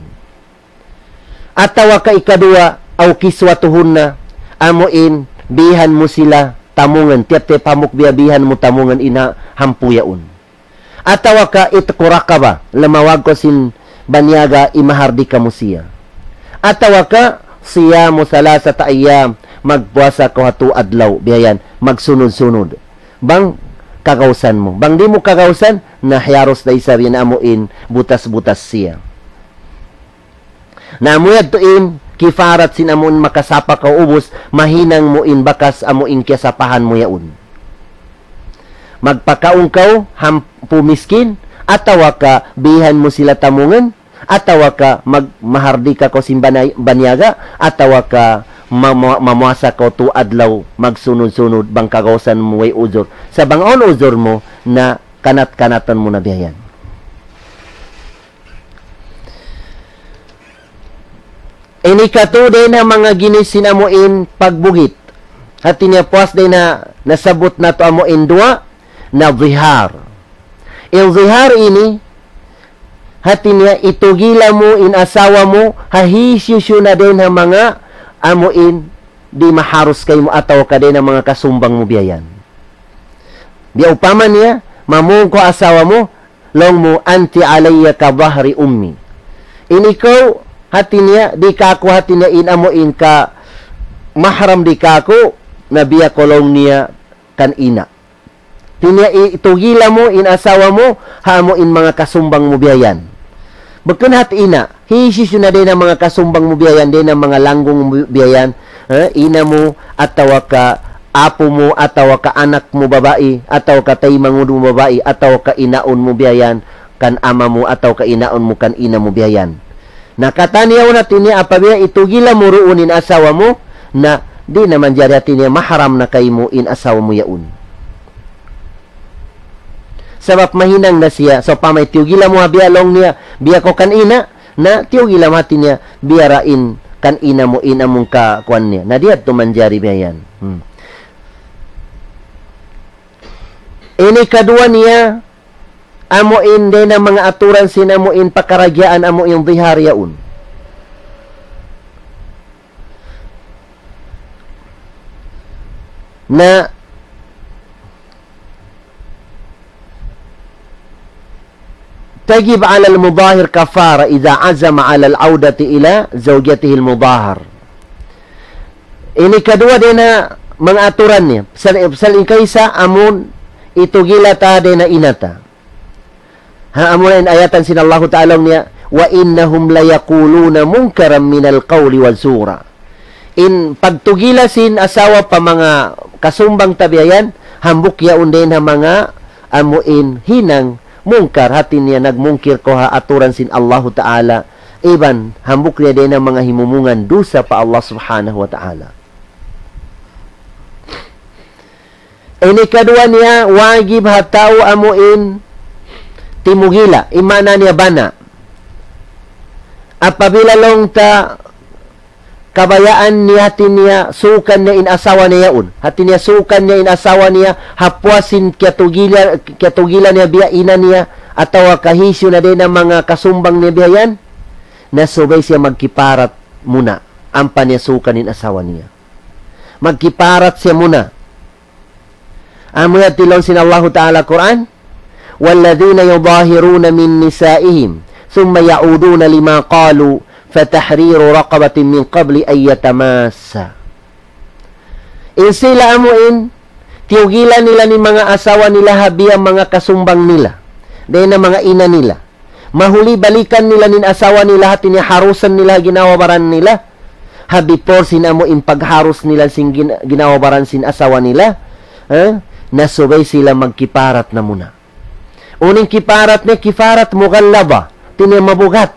Atawa ka ikaduwa, أو كسوتهن, amuin bihan mu sila tamungan, tiyap-tiyap hambuuk biya' bihan mu tamungan in ha hangpu' yaun. Atawa ka عتق رقبة, lamawag kaw sin baniyaga, imahardika mu siya. Atawa ka صيام ثلاثة أيام, magpuasa kaw ha tū adlaw, biya' yan, magsunud-sunud. Bang kagausan mu. Bang di' mu kagausan, na hiyarus da isab in amuin butas-butas siya. Na amu yadtu in kifarat sin amu in makasapa kaw ubus, mahinang mu in bakas amu in kiyasapahan mu yaun. Magpakaun kaw hampu miskin, atawa ka bihan mu sila tamungan, atawa ka mag-, mahardika kaw sin banay-, baniyaga, atawa ka ma-, ma-, mamuasa kaw tu adlaw magsunud-sunud bang kagausan mu way uzur. Sa' bang awn uzur mu na kanat-kanatan mu na biya' yan. Ini katu' dayn ha manga ginis sin amu in pagbugit. Hati niya puas dayn ha nasabbut natu' amu in duwa na zihar. In zihar ini, hati niya itugila mu in asawa mu, ha hisiyu-siyu na dayn ha manga amu in di' maharus kaymu atawa ka dayn ha manga kasumbang mu biya' yan. Biya' upama niya, mamung kaw asawa mu, laung mu, "Anti alayya ka zahri ummi." In ikaw, hati niya, di' kāku' hati niya in amu in ka mahram di' kāku', na biya' kaw laung niya kan ina'. Hati niya i-, itugila mu in asawa mu, ha amu in manga kasumbang mu biya' yan. Bukun hat ina', hisiyu-siyu na dayn ha manga kasumbang mu biya' yan, dayn ha manga langgung mu biya' yan, eh, ina' mu, atawa ka apu' mu, atawa ka anak mu babai, atawa ka taymanghud mu babai, atawa ka inaun mu biya' yan, kan ama' mu, atawa ka inaun mu, kan ina' mu biya' yan. Na katan yaun hati niya apabila itugila mu duun in asawa mu, na di' na manjari hati niya mahram na kaymu in asawa mu yaun. Sabab mahinang na siya, sawpama tiyugila mu ha biya' laung niya, biya' kaw kan ina', na tiyugila mu hati niya, biya' da in kan ina' mu in amu in ka kuwan niya. Na di' yadtu manjari biya' yan. Hmm. Ini kaduwa niya, amu in dayn ha manga aturan sin amu in pakaragyaan amu in zihar yaun. Na تجب على المظاهر كفارة إذا عزم على العودة إلى زوجته المظاهر. Ini kaduwa dayn ha manga aturan niya. Pasal, pasal in kaisa amun itugila ta dayn ha ina' ta. Ha, amu na in ayatan sin Allahu Ta'ala niya, "وإنهم ليقولون منكرا من القول وزورا." In pagtugila sin asawa pa manga kasumbang ta biya' yan, hambuuk yaun dayn ha manga amu in hinang mungkar, hati niya nagmungkir kaw ha aturan sin Allahu Ta'ala, iban hambuuk niya dayn ha manga himumungan dusa pa Allah Subhanahu wa Ta'ala. Ini kaduwa niya, wajib ha tau amu in timugila, in maana niya bana. Apabila laung ta kabayaan niya, hati niya suukan niya in asawa niya yaun. Hati niya suukan niya in asawa niya, ha puas sin kiyatugila, kiyatugila niya biya' ina' niya, atawa kahisiyu na dayn ha manga kasumbang niya biya' yan, na subay siya magkiparat muna, ampa niya suukan in asawa niya. Magkiparat siya muna. Amu yadtu laung sin Allahu Ta'ala Qur'an, والذين يظاهرون من نسائهم ثم يعودون لما قالوا فتحرير رقبة من قبل أن يتماسا. In sila amu in, tiyugilan nila in manga asawa nila ha biya' manga kasumbang nila, dayn ha manga ina' nila. Mahuli balikan nila in asawa nila, hati niya harusan nila ginawa-baran nila. Ha before sin amu in pagharus nila sin gin-, ginawa-baran sin asawa nila. Eh? Na subay sila magkiparat na muna. Unu in kiparat niya, kiparat mughallaba. Hati niya mabugat.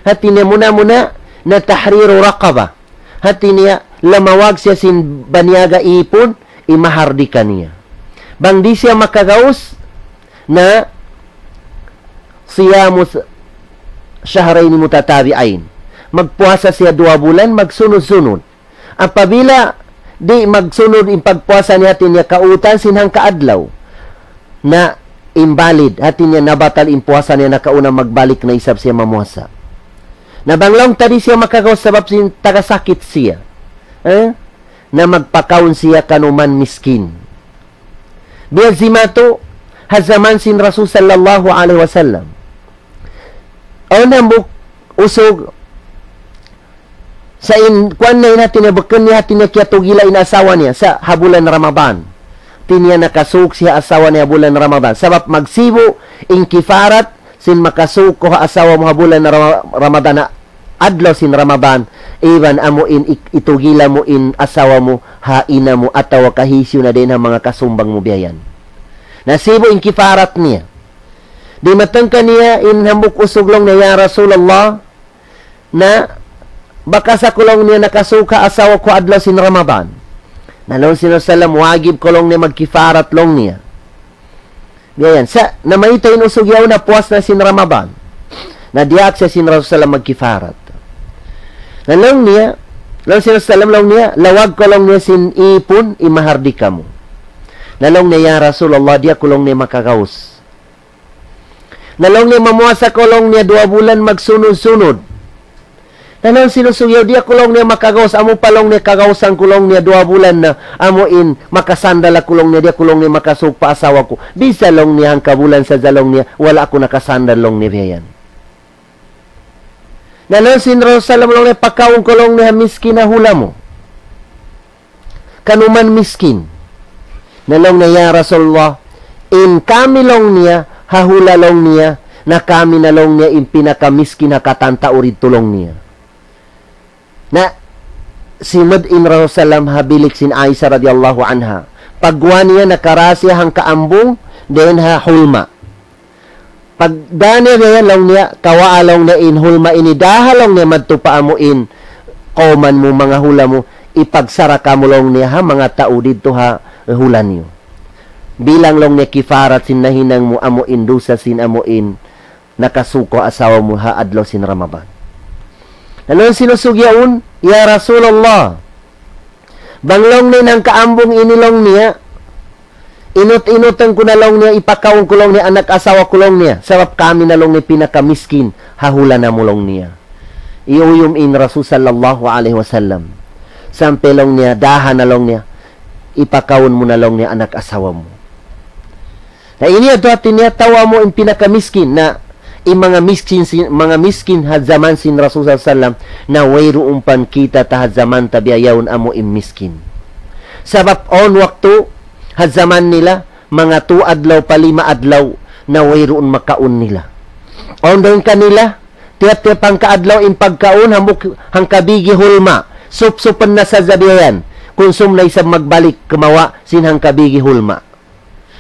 Hati niya muna-muna na tahriru raqaba. Hati niya, lamawag siya sin baniyaga ipun, imahardika niya. Bang di' siya makagaus, na siyamu s-, shahrayni mutatabi'ayn. Magpuasa siya duwa bulan, magsunud-sunud. Apabila di' magsunud in pagpuasa niya, hati niya kautan sin hangka adlaw, na invalid, hati niya nabatal in puasa niya, nakauna magbalik na isab siya mamuasa. Na bang laung ta di' siya makagaus sabab sin taga sakit siya, eh? Na magpakaun siya kanuman miskin. Biya' jimatu ha jaman sin Rasul sallallahu alayhi wasallam. Awn hambuuk usug sa' in kuwan na in hati niya, bukun niya hati niya kiyatugila in asawa niya sa' ha bulan Ramadan. Hati niya nakasuuk siya ha asawa niya ha bulan Ramadan. Sabab magsibu' in kiparat sin makasuuk kaw ha asawa mu ha bulan Rama-, Ramadan, ha adlaw sin Ramadan, Iban amu in ik-, itugila mu in asawa mu ha ina mu atawa ka hisiyu na dayn ha manga kasumbang mu biya' yan. Na sibu' in kifarat niya. Dimatung kaniya in hambuuk usug laung niya, "Ya Rasulullah, na bakas aku laung niya nakasuuk ha asawa ku adlaw sin Ramadan." Na laung sin Rasulullah, "Wajib kaw laung niya magkifarat laung niya." Biya' yan. Sa', namayta' in usug yaun na puas na sin Ramadan. Na diyaak siya sin Rasulullah magkifarat. Na laung niya, laung sin Rasulullah laung niya, "Lawag kaw laung niya sin ipun, in mahardika mu." Na laung niya, "Ya Rasulullah, di' aku laung niya makagaus." Na laung niya, "Mamuasa kaw laung niya duwa bulan magsunud-sunud." Na laung sin usug yaun, "Di' aku laung niya makagaus, amu pa laung niya kagausan ku laung niya duwa bulan na, amu in makasandal aku laung niya, di' aku laung niya makasuuk pa asawa ku. Bisan laung niya hangka bulan sadja laung niya, wala' aku nakasandal laung niya biya' yan." Na laung sin Rasulullah laung niya, "Pakaun kaw laung niya miskin ha hula mu. Kanuman miskin." Na laung niya, "Ya Rasulullah, in kami laung niya, ha hula laung niya, na kami na laung niya in pinakamiskin ha katan tau didtu laung niya." Na simud in Rasulullah ha bilik sin Aisha radiyallahu anha. Pagguwa' niya nakarā siya hangka ambung, dayn ha hulma. Pagdā niya biya' yan laung niya, kawaa laung niya in hulma ini, dāha laung niya madtu pa amu in kawman mu, manga hula mu, ipagsaraka mu laung niya ha manga tau didtu ha hula niyu. Bilang laung niya kifarat sin nahinang mu amu in dusa sin amu in nakasuuk ha asawa mu ha adlaw sin Ramadan. Na laung sin usug yaun, "Ya Rasulullah, bang laung niya in hangka ambung ini laung niya, inut-inutan ku na laung niya, ipakaun ku laung niya, anak asawa ku laung niya, sabab kami na laung niya pinakamiskin ha hula namu' laung niya." Iyuyum in Rasul sallallahu alayhi wasallam. Sampay laung niya, dāha na laung niya, ipakaun mu na laung niya anak asawa mu. Na ini yadtu hāti niya tau amu in pinakamiskin, na in manga miskin sin, manga miskin ha jaman sin Rasul sallallahu alayhi wasallam, na wayruun pa kita ta ha jaman ta biya' yaun amu in miskin. Sabab awn waktu ha jaman nila, manga tū adlaw pa lima adlaw na wayruun makaun nila. Awn dayn kanila, tiyap-tiyap hangka adlaw in pagkaun, hambuuk hangka bigi hulma, sup-supan na sadja biya' yan. Kunsum na isab magbalik kumawa' sin hangka bigi hulma.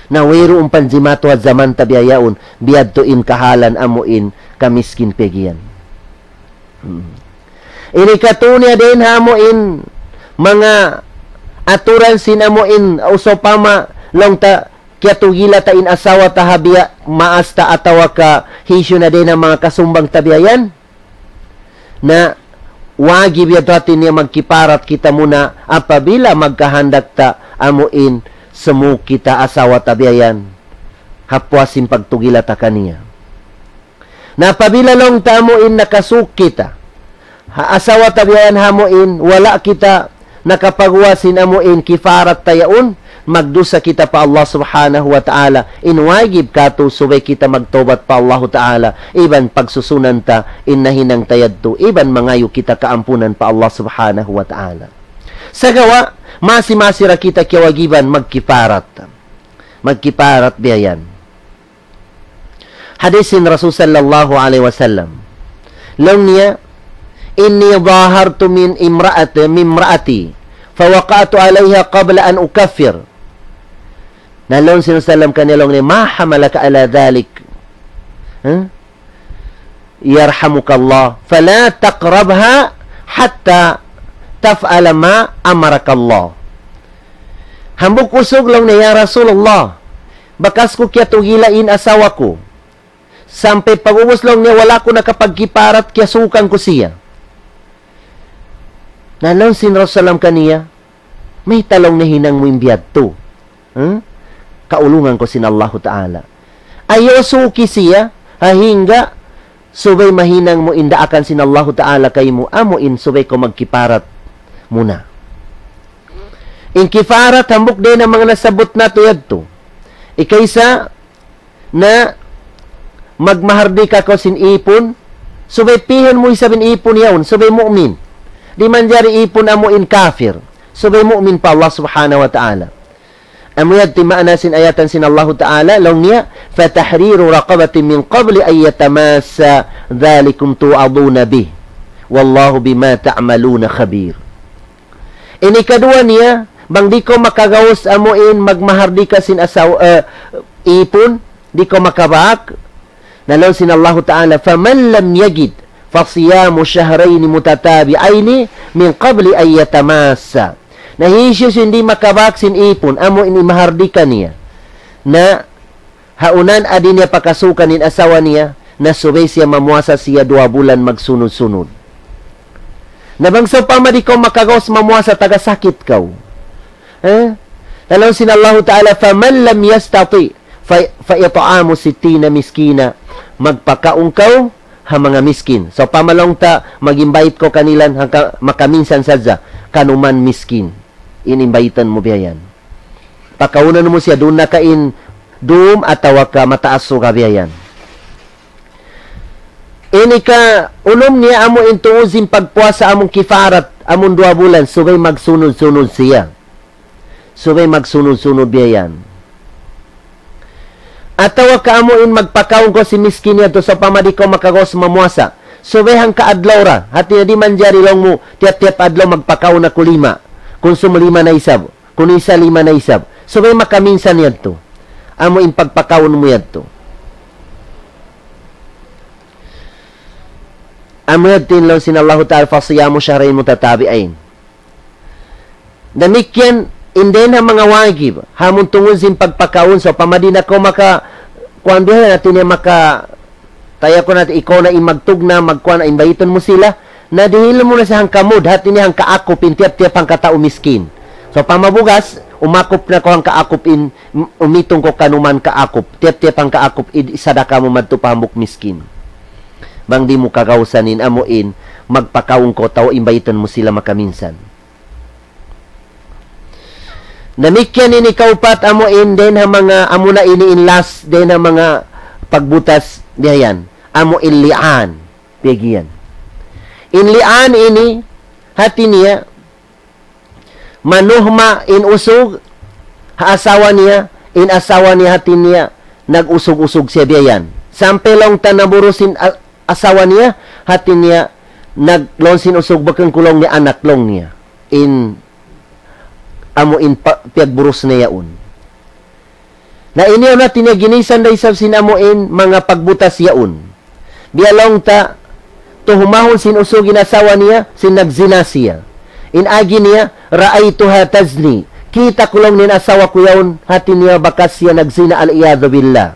Na wayruun pa jimatu ha jaman ta biya' yaun, biyadtu in kahalan amu in kamiskin pegge' yan. Hmm. Ini katu' niya dayn ha amu in manga aturan sin amu in usupama laung ta kiyatugila ta in asawa ta ha biya' maas ta atawa ka hisiyu na dayn ha manga kasumbang ta biya' yan. Na wajib yadtu hāti niya magkiparat kita muna apabila magkahandak ta amu in sumuuk kita asawa ta biya' yan. Ha puas sin pagtugila ta kaniya. Na apabila laung ta amu in nakasuuk kita ha asawa ta biya' yan ha amu in wala' kita nakapaguwa' sin amu in kiparat ta yaun, magdusa kita pa Allah Subhanahu wa Ta'ala. In wajib katu' subay kita magtawbat pa Allahu Ta'ala, iban pagsusunan ta in nahinang ta yadtu, iban mangayu' kita kaampunan pa Allah Subhanahu wa Ta'ala. Sagawa', masi-masi da kita kiyawajiban magkiparat. Magkiparat biya' yan. Hadis sin Rasul sallallahu alayhi wasallam. Laung niya, "إني ظاهرت من امرأة، من امرأتي، فوقعت عليها قبل أن أكفر." Na laung sin Rasul sallam kaniya laung niya, "ما حملك على ذلك؟ Huh? يرحمك الله. فلا تقربها حتى تفعل ما أمرك الله." Hambuuk usug laung niya, "Ya Rasulullah, bakas ku kiyatugila in asawa ku. Sampay pag'ubus laung niya wala' aku nakapagkiparat, kiyasuukan ku siya." Na laung sin Rasul sallam kaniya, "Mayta' laung niya hinang mu in biyadtu? Huh? Kaulungan kaw sin Allahu Ta'ala. Ayaw suuki siya, ha hangga subay mahinang mu in daakan sin Allahu Ta'ala kaymu, amu in subay kaw magkiparat muna." In kiparat hambuuk dayn ha manga nasabbut natu' yadtu. Ikaisa, na magmahardika kaw sin ipun, subay pihun mu isab in ipun yaun, subay mu'min. Di' manjari ipun amu in kafir, subay mu'min pa Allah Subhanahu wa Ta'ala. Amu yadtu in maana sin ayatan sin Allahu Ta'ala, laung niya, "فتحرير رقبة من قبل أن يتماسا ذلكم توعظون به." والله بما تعملون خبير. Ini kaduwa niya, bang di' kaw makagaus amuin magmahardika sin asaw-, eh, ipun, di' kaw makabak. Na laung sin Allahu Ta'ala, فمن لم يجد فصيام شهرين متتابعين من قبل أن يتماسا. Na hisiyu in di' makabak sin ipun, amuin imahardika niya. Na ha unan di' niya pakasukan in asawa niya, na subay siya mamuasa siya duwa bulan magsunud-sunud. Na bang sawpama di' kaw makagaus mamuasa, taga sakit kaw. Eh? Laung sin Allahu Ta'ala, فمن لم يستطع ف-, فإطعام ستين مسكينا. Magpakaun kaw ha manga miskin. Sawpama laung ta, mag-invite kaw kanila, hangka makaminsan sadja, kanuman miskin in invitan mu biya' yan. Pakaunan mu siya duun na ka in dum atawa ka mataas suga biya' yan. Ini kaunum niya amu in tuud sin pagpuasa amun kifarat, amun duwa bulan, subay magsunud-sunud siya. Subay magsunud-sunud biya' yan. Atawa ka amu in magpakaun kaw sin miskin yadtu, sawpama di' kaw makagaus mamuasa. Subay hangka adlaw ra, hati niya di' manjari laung mu, tiyap-tiyap adlaw magpakaun aku lima. Kunsum lima na isab. Kun isa lima na isab. Subay makaminsan yadtu. Amu in pagpakaun mu yadtu. Amu yadtu in laung sin Allahu Ta'ala, فصيام شهرين متتابعين. Damikkiyan, in dayn ha manga wajib, amun tungud sin pagpakaun, sawpama di' na kaw maka-, kuwan biya' yan, hati niya maka-, taya ku na, ikaw na in magtugna', magkuwan na, invite mu sila, na dihil mu na siya hangka mud, hati niya hangka akup in tiyap-tiyap hangka tau miskin. Sawpama bugas, umakup na kaw hangka akup in, um-, umitung kaw kanuman ka akup, tiyap-tiyap hangka akup, id-, isadaka mu madtu pa hambuuk miskin. Bang di' mu kagausan in amu in, magpakaun kaw tau, invite mu sila makaminsan. Damikkiyan ini kaupat amu in, dayn ha manga, amu na ini in last, dayn ha manga pagbutas biya' yan. Amu in li'an. Piyag-iyan. In li'an ini, hati niya, manuhma in usug ha asawa niya, in asawa niya hati niya, nag-usug-usug siya biya' yan. Sampay laung ta naburus in a-, asawa niya, hati niya, nag-, laung sin usug bukun ku laung niya anak laung niya. In, amu in pa-, piyagburus niya yaun. Na ini na hati niya ginisan da isab sin amu in manga pagbutas yaun. Biya' laung ta, tuhmahun sin usug in asawa niya, sin nagzina siya. In agi niya, رأيتها تزني. Kita' ku laung niya in asawa ku yaun, hati niya bakas siya nagzina, العياذ بالله.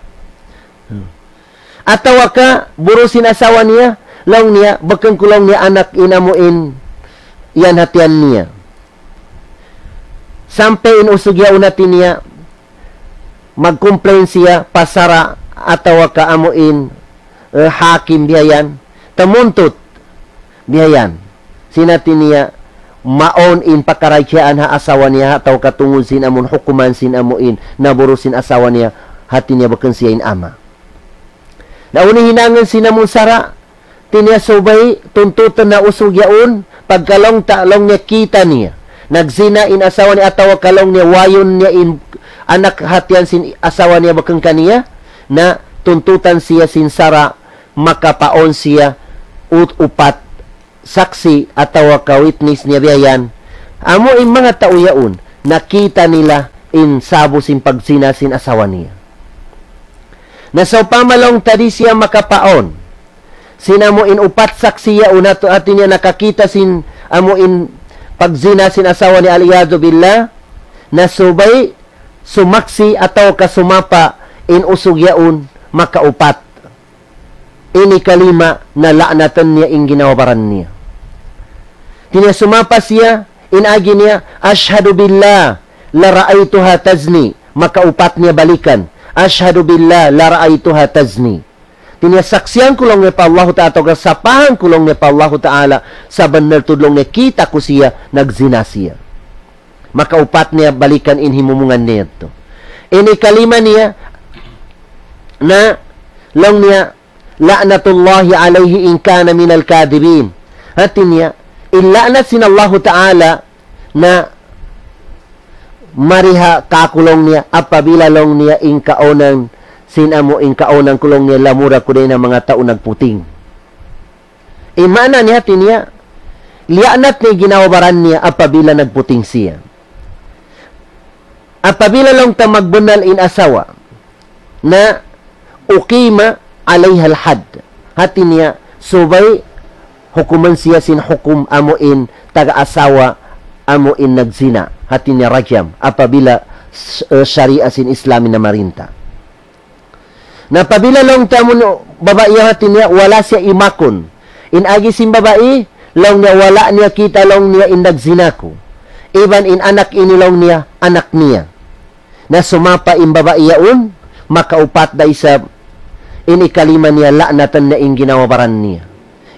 Atawa ka, burus in asawa niya, laung niya, bukun ku laung niya anak in amu in, yan hatihan niya. Sampay in usug yaun hati niya, mag-complain siya pa sara' atawa ka amu in, eh, hakim biya' yan, tamuntut biya' yan. Sin hati niya, mawn in pakaradjaan ha asawa niya, atawa ka tungud sin amun hukuman sin amu in, naburus sin asawa niya, hati niya bukun siya in ama'. Na unu in hinangun sin amun sara', hati niya subay tuntutan na usug yaun, pagka laung ta laung niya kita' niya nagzina in asawa niya atawa ka laung niya wayun niya in anak hatihan sin asawa niya bukun kaniya, na tuntutan siya sin sara' makapawn siya ut-, upat saksi' atawa ka witness niya biya' yan. Amu in manga tau yaun, nakita' nila in sabu sin pagzina sin asawa niya. Na sawpama laung ta di' siya makapawn sin amu in upat saksi' yaun, hatu-, hati niya nakakita' sin amu in pagzina sin asawa niya, العياذ بالله, na subay sumaksi' atawa ka sumapa' in usug yaun makaupat. Ini kalima na la'natan niya in ginhawa-baran niya. Hati niya sumapa' siya, in agi niya, أشهد بالله لرأيتها تزني. Makaupat niya balikan. أشهد بالله لرأيتها تزني. Hati niya saksian ku laung niya pa Allahu Ta'ala, atawa ka sapahan ku laung niya pa Allahu Ta'ala, sabunnal tuud laung niya kita' ku siya, nagzina siya. Makaupat niya balikan in himumungan niya yadtu. Ini kalima niya na laung niya, لعنة الله عليه إن كان من الكاذبين. Hati niya, in la'nat sin Allahu Ta'ala na mari ha kaku' laung niya, apabila laung niya in kaunan sin amu in kaunan ku laung niya lamura ku dayn ha manga tau nagputing. In maana niya hati niya, liyaanat niya in ginhawa-baran niya apabila nagputing siya. Apabila laung ta magbunnal in asawa, na أقيم عليها الحد. Hati niya, subay hukuman siya sin hukum amu in taga asawa amu in nagzina. Hati niya rajam. Apabila s-, eh, sharia sin Islam in namarinta. Na apabila laung ta amu in babai hati niya, wala' siya imakun. In agi sin babai, laung niya wala' niya kita' laung niya in nagzina ku. Iban in anak ini laung niya, anak niya. Na sumapa in babai yaun, makaupat da isab, in ikalima niya la'natan niya in ginhawa-baran niya.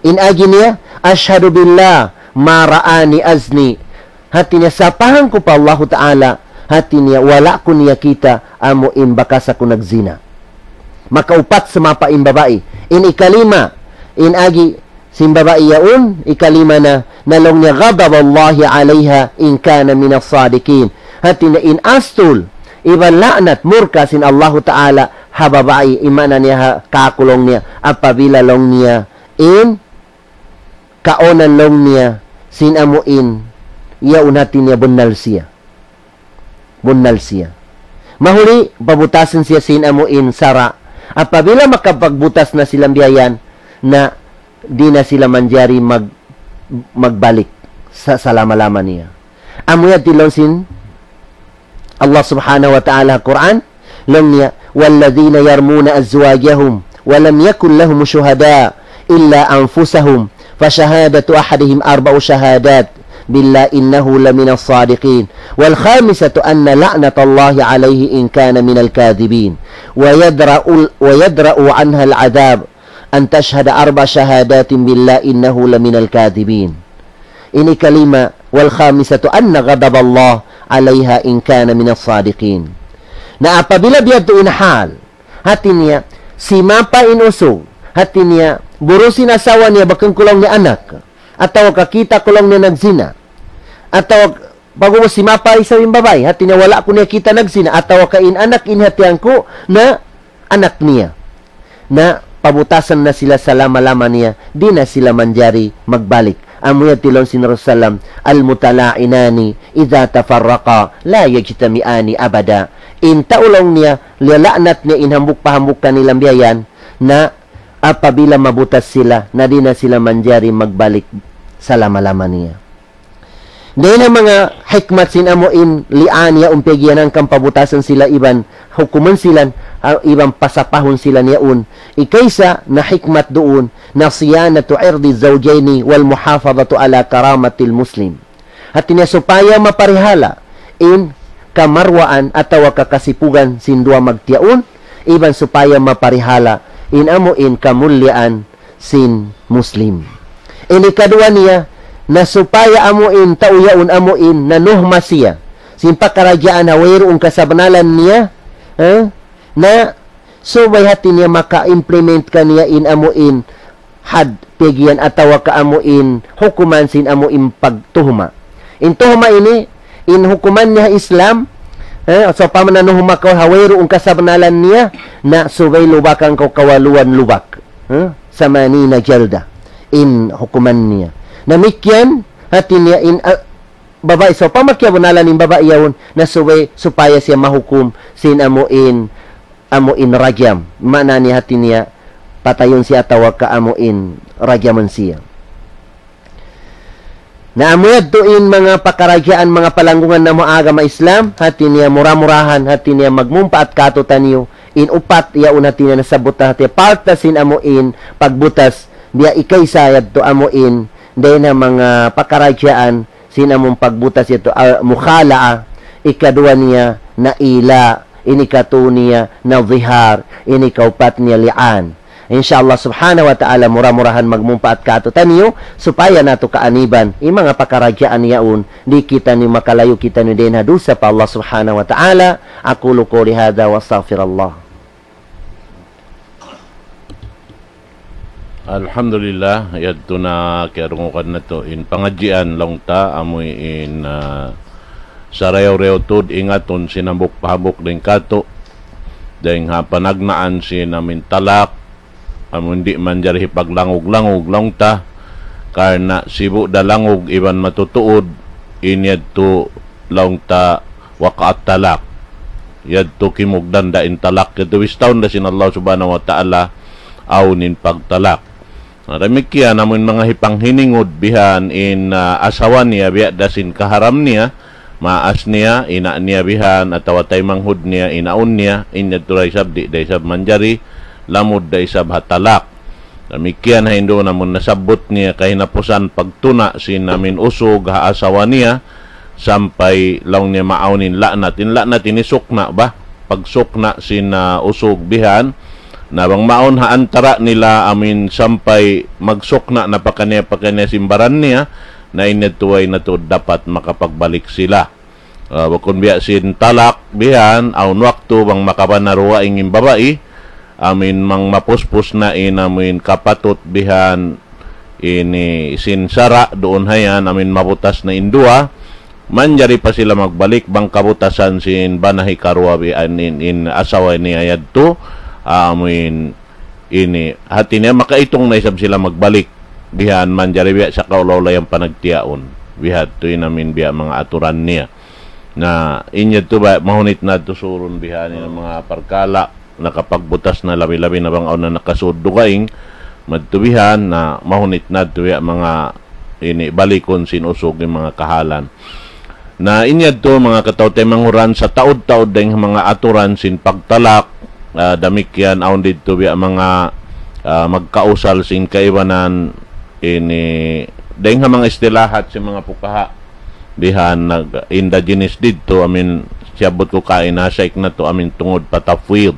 In agi niya, أشهد بالله ما رآني أزني. Hati niya, sapahan ku pa Allahu Ta'ala, hati niya, wala' ku niya kita' amu in bakas aku nagzina. Makaupat sumapa in babai. In ikalima, in agi sin babai yaun, ikalima na, na laung niya, غضب الله عليها إن كان من الصادقين. Hati niya in astul, iban la'nat murka sin Allahu Ta'ala, ha babai, in maana niya ha kakulung niya, apabila laung niya, in kaunan laung niya, sin amu in, yaun hati niya bunnal siya. Bunnal siya. Mahuli, pabutasan siya sin amu in sara'. Apabila makapagbutas na sila biya' yan, na di' na sila manjari mag-, magbalik sa salama-lama niya. Amu yan in laung sin Allah Subhanahu wa Ta'ala Qur'an, laung niya, والذين يرمون أزواجهم ولم يكن لهم شهداء إلا أنفسهم فشهادة أحدهم أربع شهادات بالله إنه لمن الصادقين والخامسة أن لعنة الله عليه إن كان من الكاذبين ويدرأ، ويدرأ عنها العذاب أن تشهد أربع شهادات بالله إنه لمن الكاذبين. Ini kalima, والخامسة أن غضب الله عليها إن كان من الصادقين. Na apabila biya' ha yan in hal, hati niya, simapa in usug, hati niya, buru' sin asawa niya, bukun ku laung niya anak, atawa kakita' ku laung niya nagzina, atawa pag'ubus simapa isab in babai, hati niya wala' ku niya kita' nagzina, atawa ka in anak ini hati niya ku na anak niya. Na pabutasan na sila salama-lama niya, di' na sila manjari magbalik. Amu yan in laung sin Rasul sallam, المتلاعنان إذا تفرقا لا يجتمعان أبدا. In tau laung niya, liyala'nat niya in hambuuk pa hambuuk kanila biya' yan, na apabila mabutas sila, na di' na sila manjari magbalik salama-lama niya. Dayn ha manga hikmat sin amu in li'an yaun piyag'iyanangkan pabutasan sila iban hukuman sila, ha, iban pasapahun sila yaun. Ikaisa na hikmat duun na صيانة عرض الزوجين والمحافظة على كرامة المسلم. Hati niya supaya maparihala in kamarwaan atawa kakasipugan sin duwa magtiyaun, iban supaya maparihala in amu in kamulliyaan sin Muslim. Ini kaduwa niya, na supaya amu in tau yaun amu in nanuhma siya sin pakaradjaan ha wayruun kasabnalan niya, eh, na subay hati niya maka-implement kaniya in amu in had piyag'iyan atawa ka amu in hukuman sin amu in pagtuhma. In tuhma ini, in hukuman niya ha Islam, eh, sawpama nanuhma kaw ha wayruun kasabnalan niya, na subay lubakan kaw kawaluan lubak. Eh, ثمانين جلدة. In hukuman niya. Damikkiyan, hati niya in, ah, babai sawpama kiyabnalan in babai yaun, na subay supaya siya mahukum sin amu in, amu in rajam. Maana niya hati niya, patayun siya atawa ka amu in rajamun siya. Na amu yadtu in manga pakaradjaan, manga palanggungan namu' agama Islam, hati niya mura-murahan, hati niya magmumpaat kātu'niyu, in upat yaun hati niya nasabbut na hati niya, part na sin amu in pagbutas, biya' ikaisa yadtu amu in, dayn ha manga pakaradjaan, sin amu in pagbutas yadtu, al-, mukhala'a, ikaduwa niya na ila, ini katu niya na zihar, ini kaupat niya li'an. Insya Allah subhanahu wa ta'ala, mura-murahan magmumpaat kātu'niyu, supaya natu' kaaniban, in manga pakaradjaan yaun, di' kitaniyu makalayu' kitaniyu dayn ha dusa pa Allah subhanahu wa ta'ala. أقول قولي هذا وأستغفر الله. Alhamdulillah, yadtu na kiyarungugan natu' in pangadjian laung ta, amu in, ah, sarayaw-rayaw tuud ingatun sin hambuuk pa hambuuk dayn kātu', dayn ha panagnaan sin amu in talak, amu in di' manjari hipaglangug-langug laung ta, karna' sibu' da langug iban matutuud, in yadtu laung ta waqa'at talaq. Yadtu kimugdan da in talak, yadtu bistahun da sin Allah Subhanahu wa Ta'ala awn in pagtalak. Na damikkiyan amun manga hipanghiningud bihan in, ah, asawa niya biya' da sin kaharam niya, maas niya, ina' niya bihan, atawa taymanghud niya, inaun niya, in yadtu da isab, di' da isab manjari, lamud da isab ha talak. Damikkiyan ha Hindu, amun nasabbut niya kahinapusan pagtuna' sin amin usug ha asawa niya, sampay laung niya maawn in la'nat. In la'nat ini sukna' ba? Pagsukna' sin, ah, usug bihan. Na bang maawn ha antara' nila amin sampay magsukna' na pakaniya-pakaniya sin baran niya, na in yadtu way na tuud dapat makapagbalik sila. Ah, bukun biya' sin talak bihan, awn waktu bang makabana dugaing in babai, amin bang mapuspus na in amin kapatut bihan, ini sin sara' duun hayan, amin mabutas na in duwa, manjari pa sila magbalik bang kabutasan sin bana hikaruwa bihan in, in asawa niya yadtu, amin ini, hati niya makaitung na isab sila magbalik. Bihan manjari biya' sa kaula-ula yan panagtiyaun. Bihadtu in amin biya' manga aturan niya. Na, in yadtu ba, mahunit na tuud surun bihan in manga parkala', nakapagbutas na labi-labi na bang awn na nakasud dugaing, madtu bihan, na mahunit na tuud biya' manga ini balikun sin usug in manga kahalan. Na in yadtu manga kataw-taymanghuran sataud-taud dayng ha manga aturan sin pagtalak, ah, damikkiyan awn didtu biya' manga, ah, magkausal sin kaibanan ini dayng ha manga istilahat sin manga pukaha. Bihan nag-, indigenous didtu, amin siyabbut ku kaina, shaykh natu', amin tungud pa tafwid.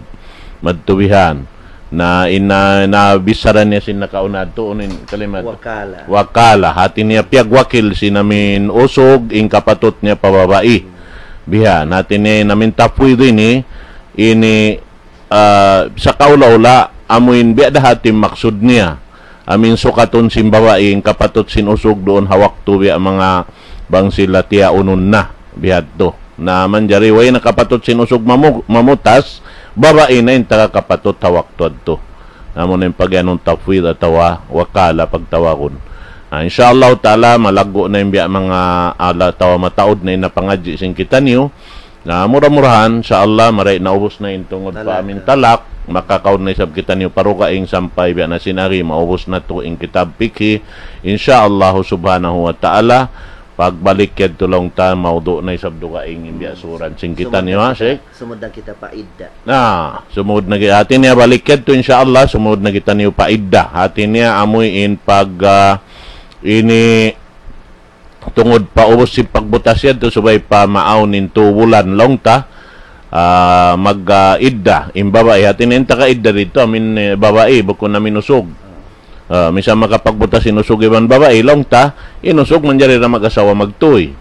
Madtu bihan. Na in, na, na bichara niya sin nakauna tuun in kalimat. Wakala. Wakala. Hati niya piyagwakil sin amin usug in kapatut niya pa babai. Bihan. Hati niya in amin tafwid ini, ini, ah, sa kaula-ula, amuin biya' da hati maksud niya. Amin sukatun sin babai in kapatut sin usug duun ha waktu biya' manga bang sila tiyaunun na. Bihadtu. Na manjari way na kapatut sin usug mamu-, mamutas, babai na in taga kapatut ha waktu adtu. Amu na in pagiyanun tafwid atawa wakala pagtawagun. Na, insya Allah ta'ala, malaggu' na in biya' manga ala atawa mataud na in napangadji' sin kitaniyu. Na, mura-murahan, insya Allah, maray naubus na in tungud pa amin talak, makakaun na isab kitaniyu pa dugaing sampay biya' na sin ari, maubus natu' in kitab fikhi. Insya Allah subhanahu wa ta'ala, pagbalik yadtu laung ta, maudu' na isab dugaing in biya' suran sin kitaniyu, ha, Sheikh? Sumud na kita pa idda. Na, sumud na ki-, hati niya balik yadtu, insya Allah, sumud na kitaniyu pa idda. Hati niya amuin pag, ah, ini tungud pa ubus sin pagbutas yadtu subay pa maawn in tu bulan laung ta, ah, mag, ah, idda in babai. Hati niya in taga idda didtu, amin, eh, babai, bukun amin usug. Ah, misan makapagbutas in usug iban babai, laung ta, in usug manjari da mag-asawa magtuy.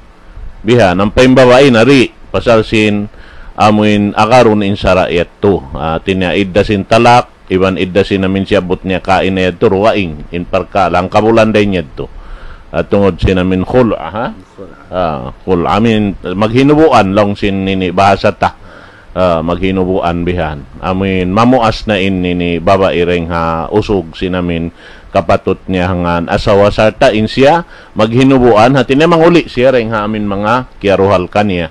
Bihan, ampa in babai na di', pasal sin amuin agarun in sara' yadtu. Ah, hati niya idda sin talak, iban idda sin amin siyabbut niya kaina yadtu dugaing, in parkala', hangkabulan dayn yadtu. Ah, tungud sin amin khul', ha? Khul'. Ah, khul', amin, maghinubuan laung sin ini bahasa ta. Ah, maghinubuan bihan. Amin, mamuas na in ini babai dayng ha usug sin amin kapatut niya hangkan asawa sarta' in siya maghinubuan, hati niya manguli' siya dayng ha amin manga kiyaruhal kaniya.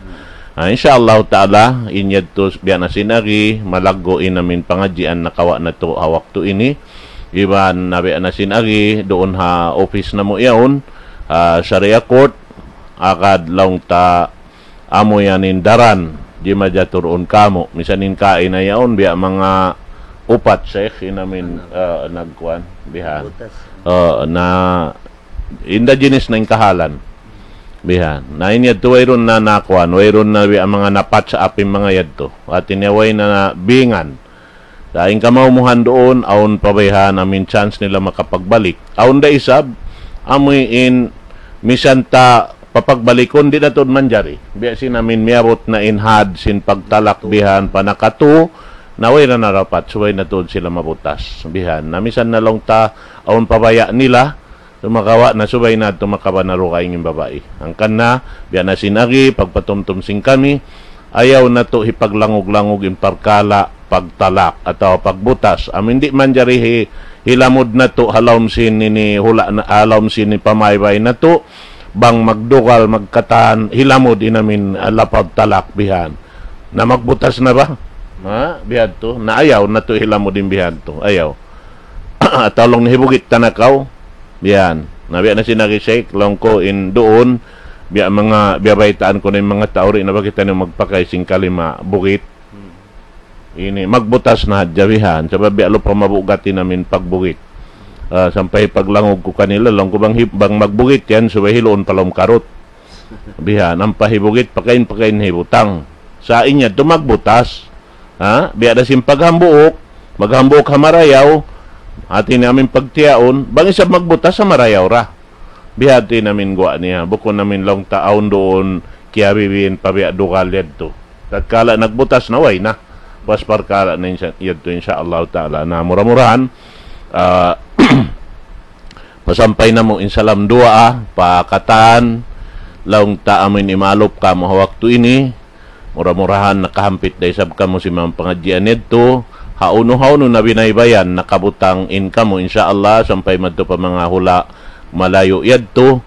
Ah, insya Allah ta'ala, in yadtu biya' na sin agi, malaggu' in amin pangadjian nakawa' natu' ha waktu ini. Iban na biya' na sin agi, duun ha office namu' yaun, ah, Sharia Court, agad laung ta amu yan in daran, di' majaturun kamu. Misan in kaina yaun, biya' manga upat, Sheikh, in amin, ah, nagkuan, bihan. Butas. Ah, na, indigenous na in kahalan. Bihan. Na in yadtu wayruun na nakuan, wayruun na biya' manga na-patch up in manga yadtu. Hati niya way na bingan. Sa' in kamaumuhan duun, awn pa bayhan, amin chance nila makapagbalik. Awn da isab, amuin misan ta papagbalikun, di' na tuud manjari. Biya' sin amin miyabut na in had sin pagtalak bihan pa nakatu, na way na narapat, subay na tuud sila mabutas. Bihan. Na misan na laung ta, awn pa baya' nila, sumagawa' na subay na tuud makabana dugaing in babai. Hangkan na, biya' na sin agi, pagpatumtum sin kami, ayaw natu' hipaglangug-langug in parkala', pagtalak atawa pagbutas. Amu in di' manjari hi-, hilamud natu' ha lawm sin ini hula' na, ha lawm sin ini pamaybay natu', bang magdugal, magkatan, hilamud in amu in, ah, lapad talak bihan. Na magbutas na ba? Ha? Bihadtu. Na ayaw natu' hilamud in bihadtu. Ayaw. Atawa laung niya hibugit ta na kaw. Bihan. Na biya' na sin agi Sheikh, laung ku in duun, biya' manga, biya' baytaan ku na in manga tau di' na ba kitaniyu magpakay sin kalima bugit. Ini, magbutas na hadja bihan. Sabab biya' lupa mabugat in amu in pagbugit. Ah, sampay paglangug ku kanila, laung ku bang hi-, bang magbugit yan, subay hiluun pa lawm karut. Bihan, ampa hibugit, pakain-pakain hibutang. Sa' in yadtu magbutas. Ha? Biya' da sin paghambuuk, maghambuuk ha marayaw, hati niya amu in pagtiyaun, bang isab magbutas ha marayaw ra. Bihadtu in amu in guwa' niya, bukun amu in laung ta awn duun, kiyabibiin pa biya' dugal yadtu. Tatkala nagbutas na, way na. Pas parkala' na insya-, yadtu insya Allah ta'ala. Na mura-murahan, ah, pasampay namu' in salam duwaa, pa katan, laung ta amu in imalup kamu ha waktu ini, mura-murahan nakahampit da isab kamu sin manga pangadjian yadtu, hawnu-hawnu na binaybayan, nakabutang in kamu, insya Allah, sampay madtu pa manga hula' malayu' yadtu,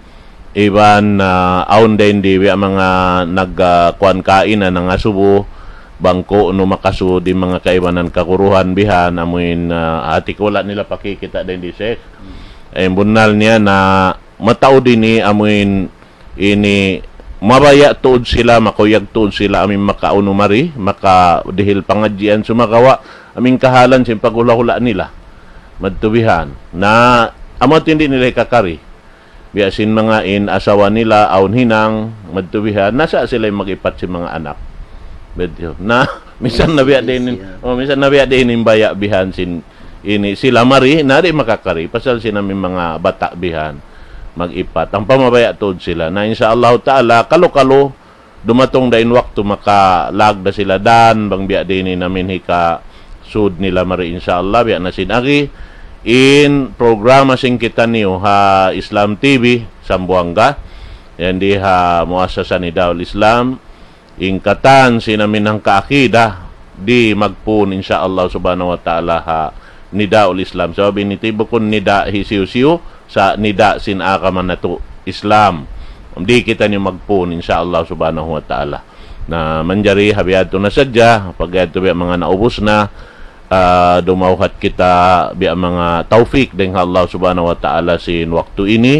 iban, ah, awn da in di biya' manga nag, ah, kuwan kaina nangasubu, bang ku'nu makasud in manga kaibanan kaguruhan bihan, amu in, ah, hati ku wala' nila pakikita' da in di Sheikh. Eh, bunnal niya na mataud ini amu in ini mabaya' tuud sila, makuyag tuud sila, amu in makaunu mari, makadihil pangadjian sumagawa', amu in kahalan sin paghula'-hula' nila. Madtu bihan. Na, amu in di' nila hikakari. Biya' sin manga in asawa nila, awn hinang, madtu bihan, nasa' sila in mag-ipat sin manga anak. Madtu. Na, misan na biya' diin in, oh, misan na biya' diin in baya' bihan sin ini sila mari, na di' makakari. Pasal sin amu in manga bata' bihan, mag-ipat. Ampa mabaya' tuud sila. Na, insya Allah ta'ala, kalu-kalu, dumatung da in waktu makalagda sila dan, bang biya' diin in amu in hikasud nila mari, insya Allah, biya' na sin agi. In programa sin kitaniyu ha Islam T V, Sambuanga, yan di ha Muassasa Nidaul Islam, in katan sin amu in hangka akida, di' magpun, insya Allah subhanahu wa ta'ala, ha Nidaul Islam. Sabab ini ti bukun nida' hisiyu-siyu, sa' nida' sin agama natu' Islam. Di' kitaniyu magpun, insya Allah subhanahu wa ta'ala. Na manjari ha bihadtu na sadja, pag yadtu biya' manga naubus na, ah, dumawhat kita biya' manga tawfik dayn ha Allah subhanahu wa ta'ala sin waktu ini.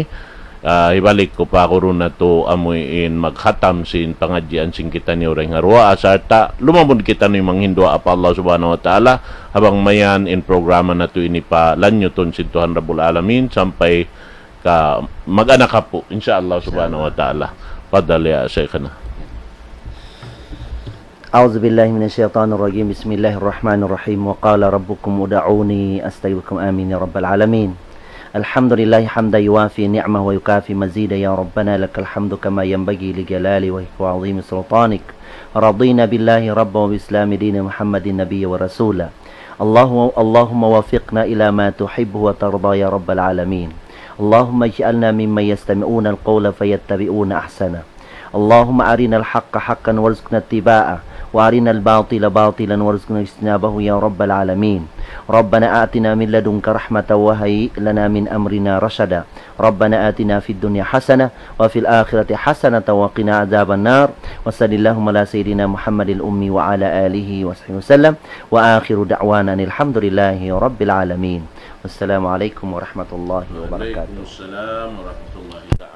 Ah, hibalik ku pa guru natu' amu in maghatam sin pangadjian sin kitaniyu dayn ha duwaa, sarta' lumamud kitaniyu manghinduwaa pa Allah subhanahu wa ta'ala, ha bang mayan in programa natu' ini palanyutun sin Tuhan Rabbul Alamin, sampay ka mag-anak apu', insya Allah subhanahu wa ta'ala. Fadal ya Shaykhana. أعوذ بالله من الشيطان الرجيم. بسم الله الرحمن الرحيم. وقال ربكم ادعوني أستجب لكم. آمين يا رب العالمين. الحمد لله حمدا يوافي نعمه ويكافي مزيده. يا ربنا لك الحمد كما ينبغي لجلال وجهك وعظيم سلطانك. رضينا بالله ربا وبالإسلام دينا ومحمد نبيا ورسولا. اللهم، اللهم وفقنا إلى ما تحبه وترضى يا رب العالمين. اللهم اجعلنا ممن يستمعون القول فيتبعون أحسنه. اللهم أرنا الحق حقا وارزقنا اتباعه، وأرنا الباطل باطلا وارزقنا اجتنابه يا رب العالمين. ربنا آتنا من لدنك رحمة وهيئ لنا من أمرنا رشدا. ربنا آتنا في الدنيا حسنة وفي الآخرة حسنة وقنا عذاب النار. وصل اللهم على سيدنا محمد الأمي وعلى آله وصحبه وسلم. وآخر دعوانا أن الحمد لله رب العالمين. والسلام عليكم ورحمة الله وبركاته. وعليكم السلام ورحمة الله تعالى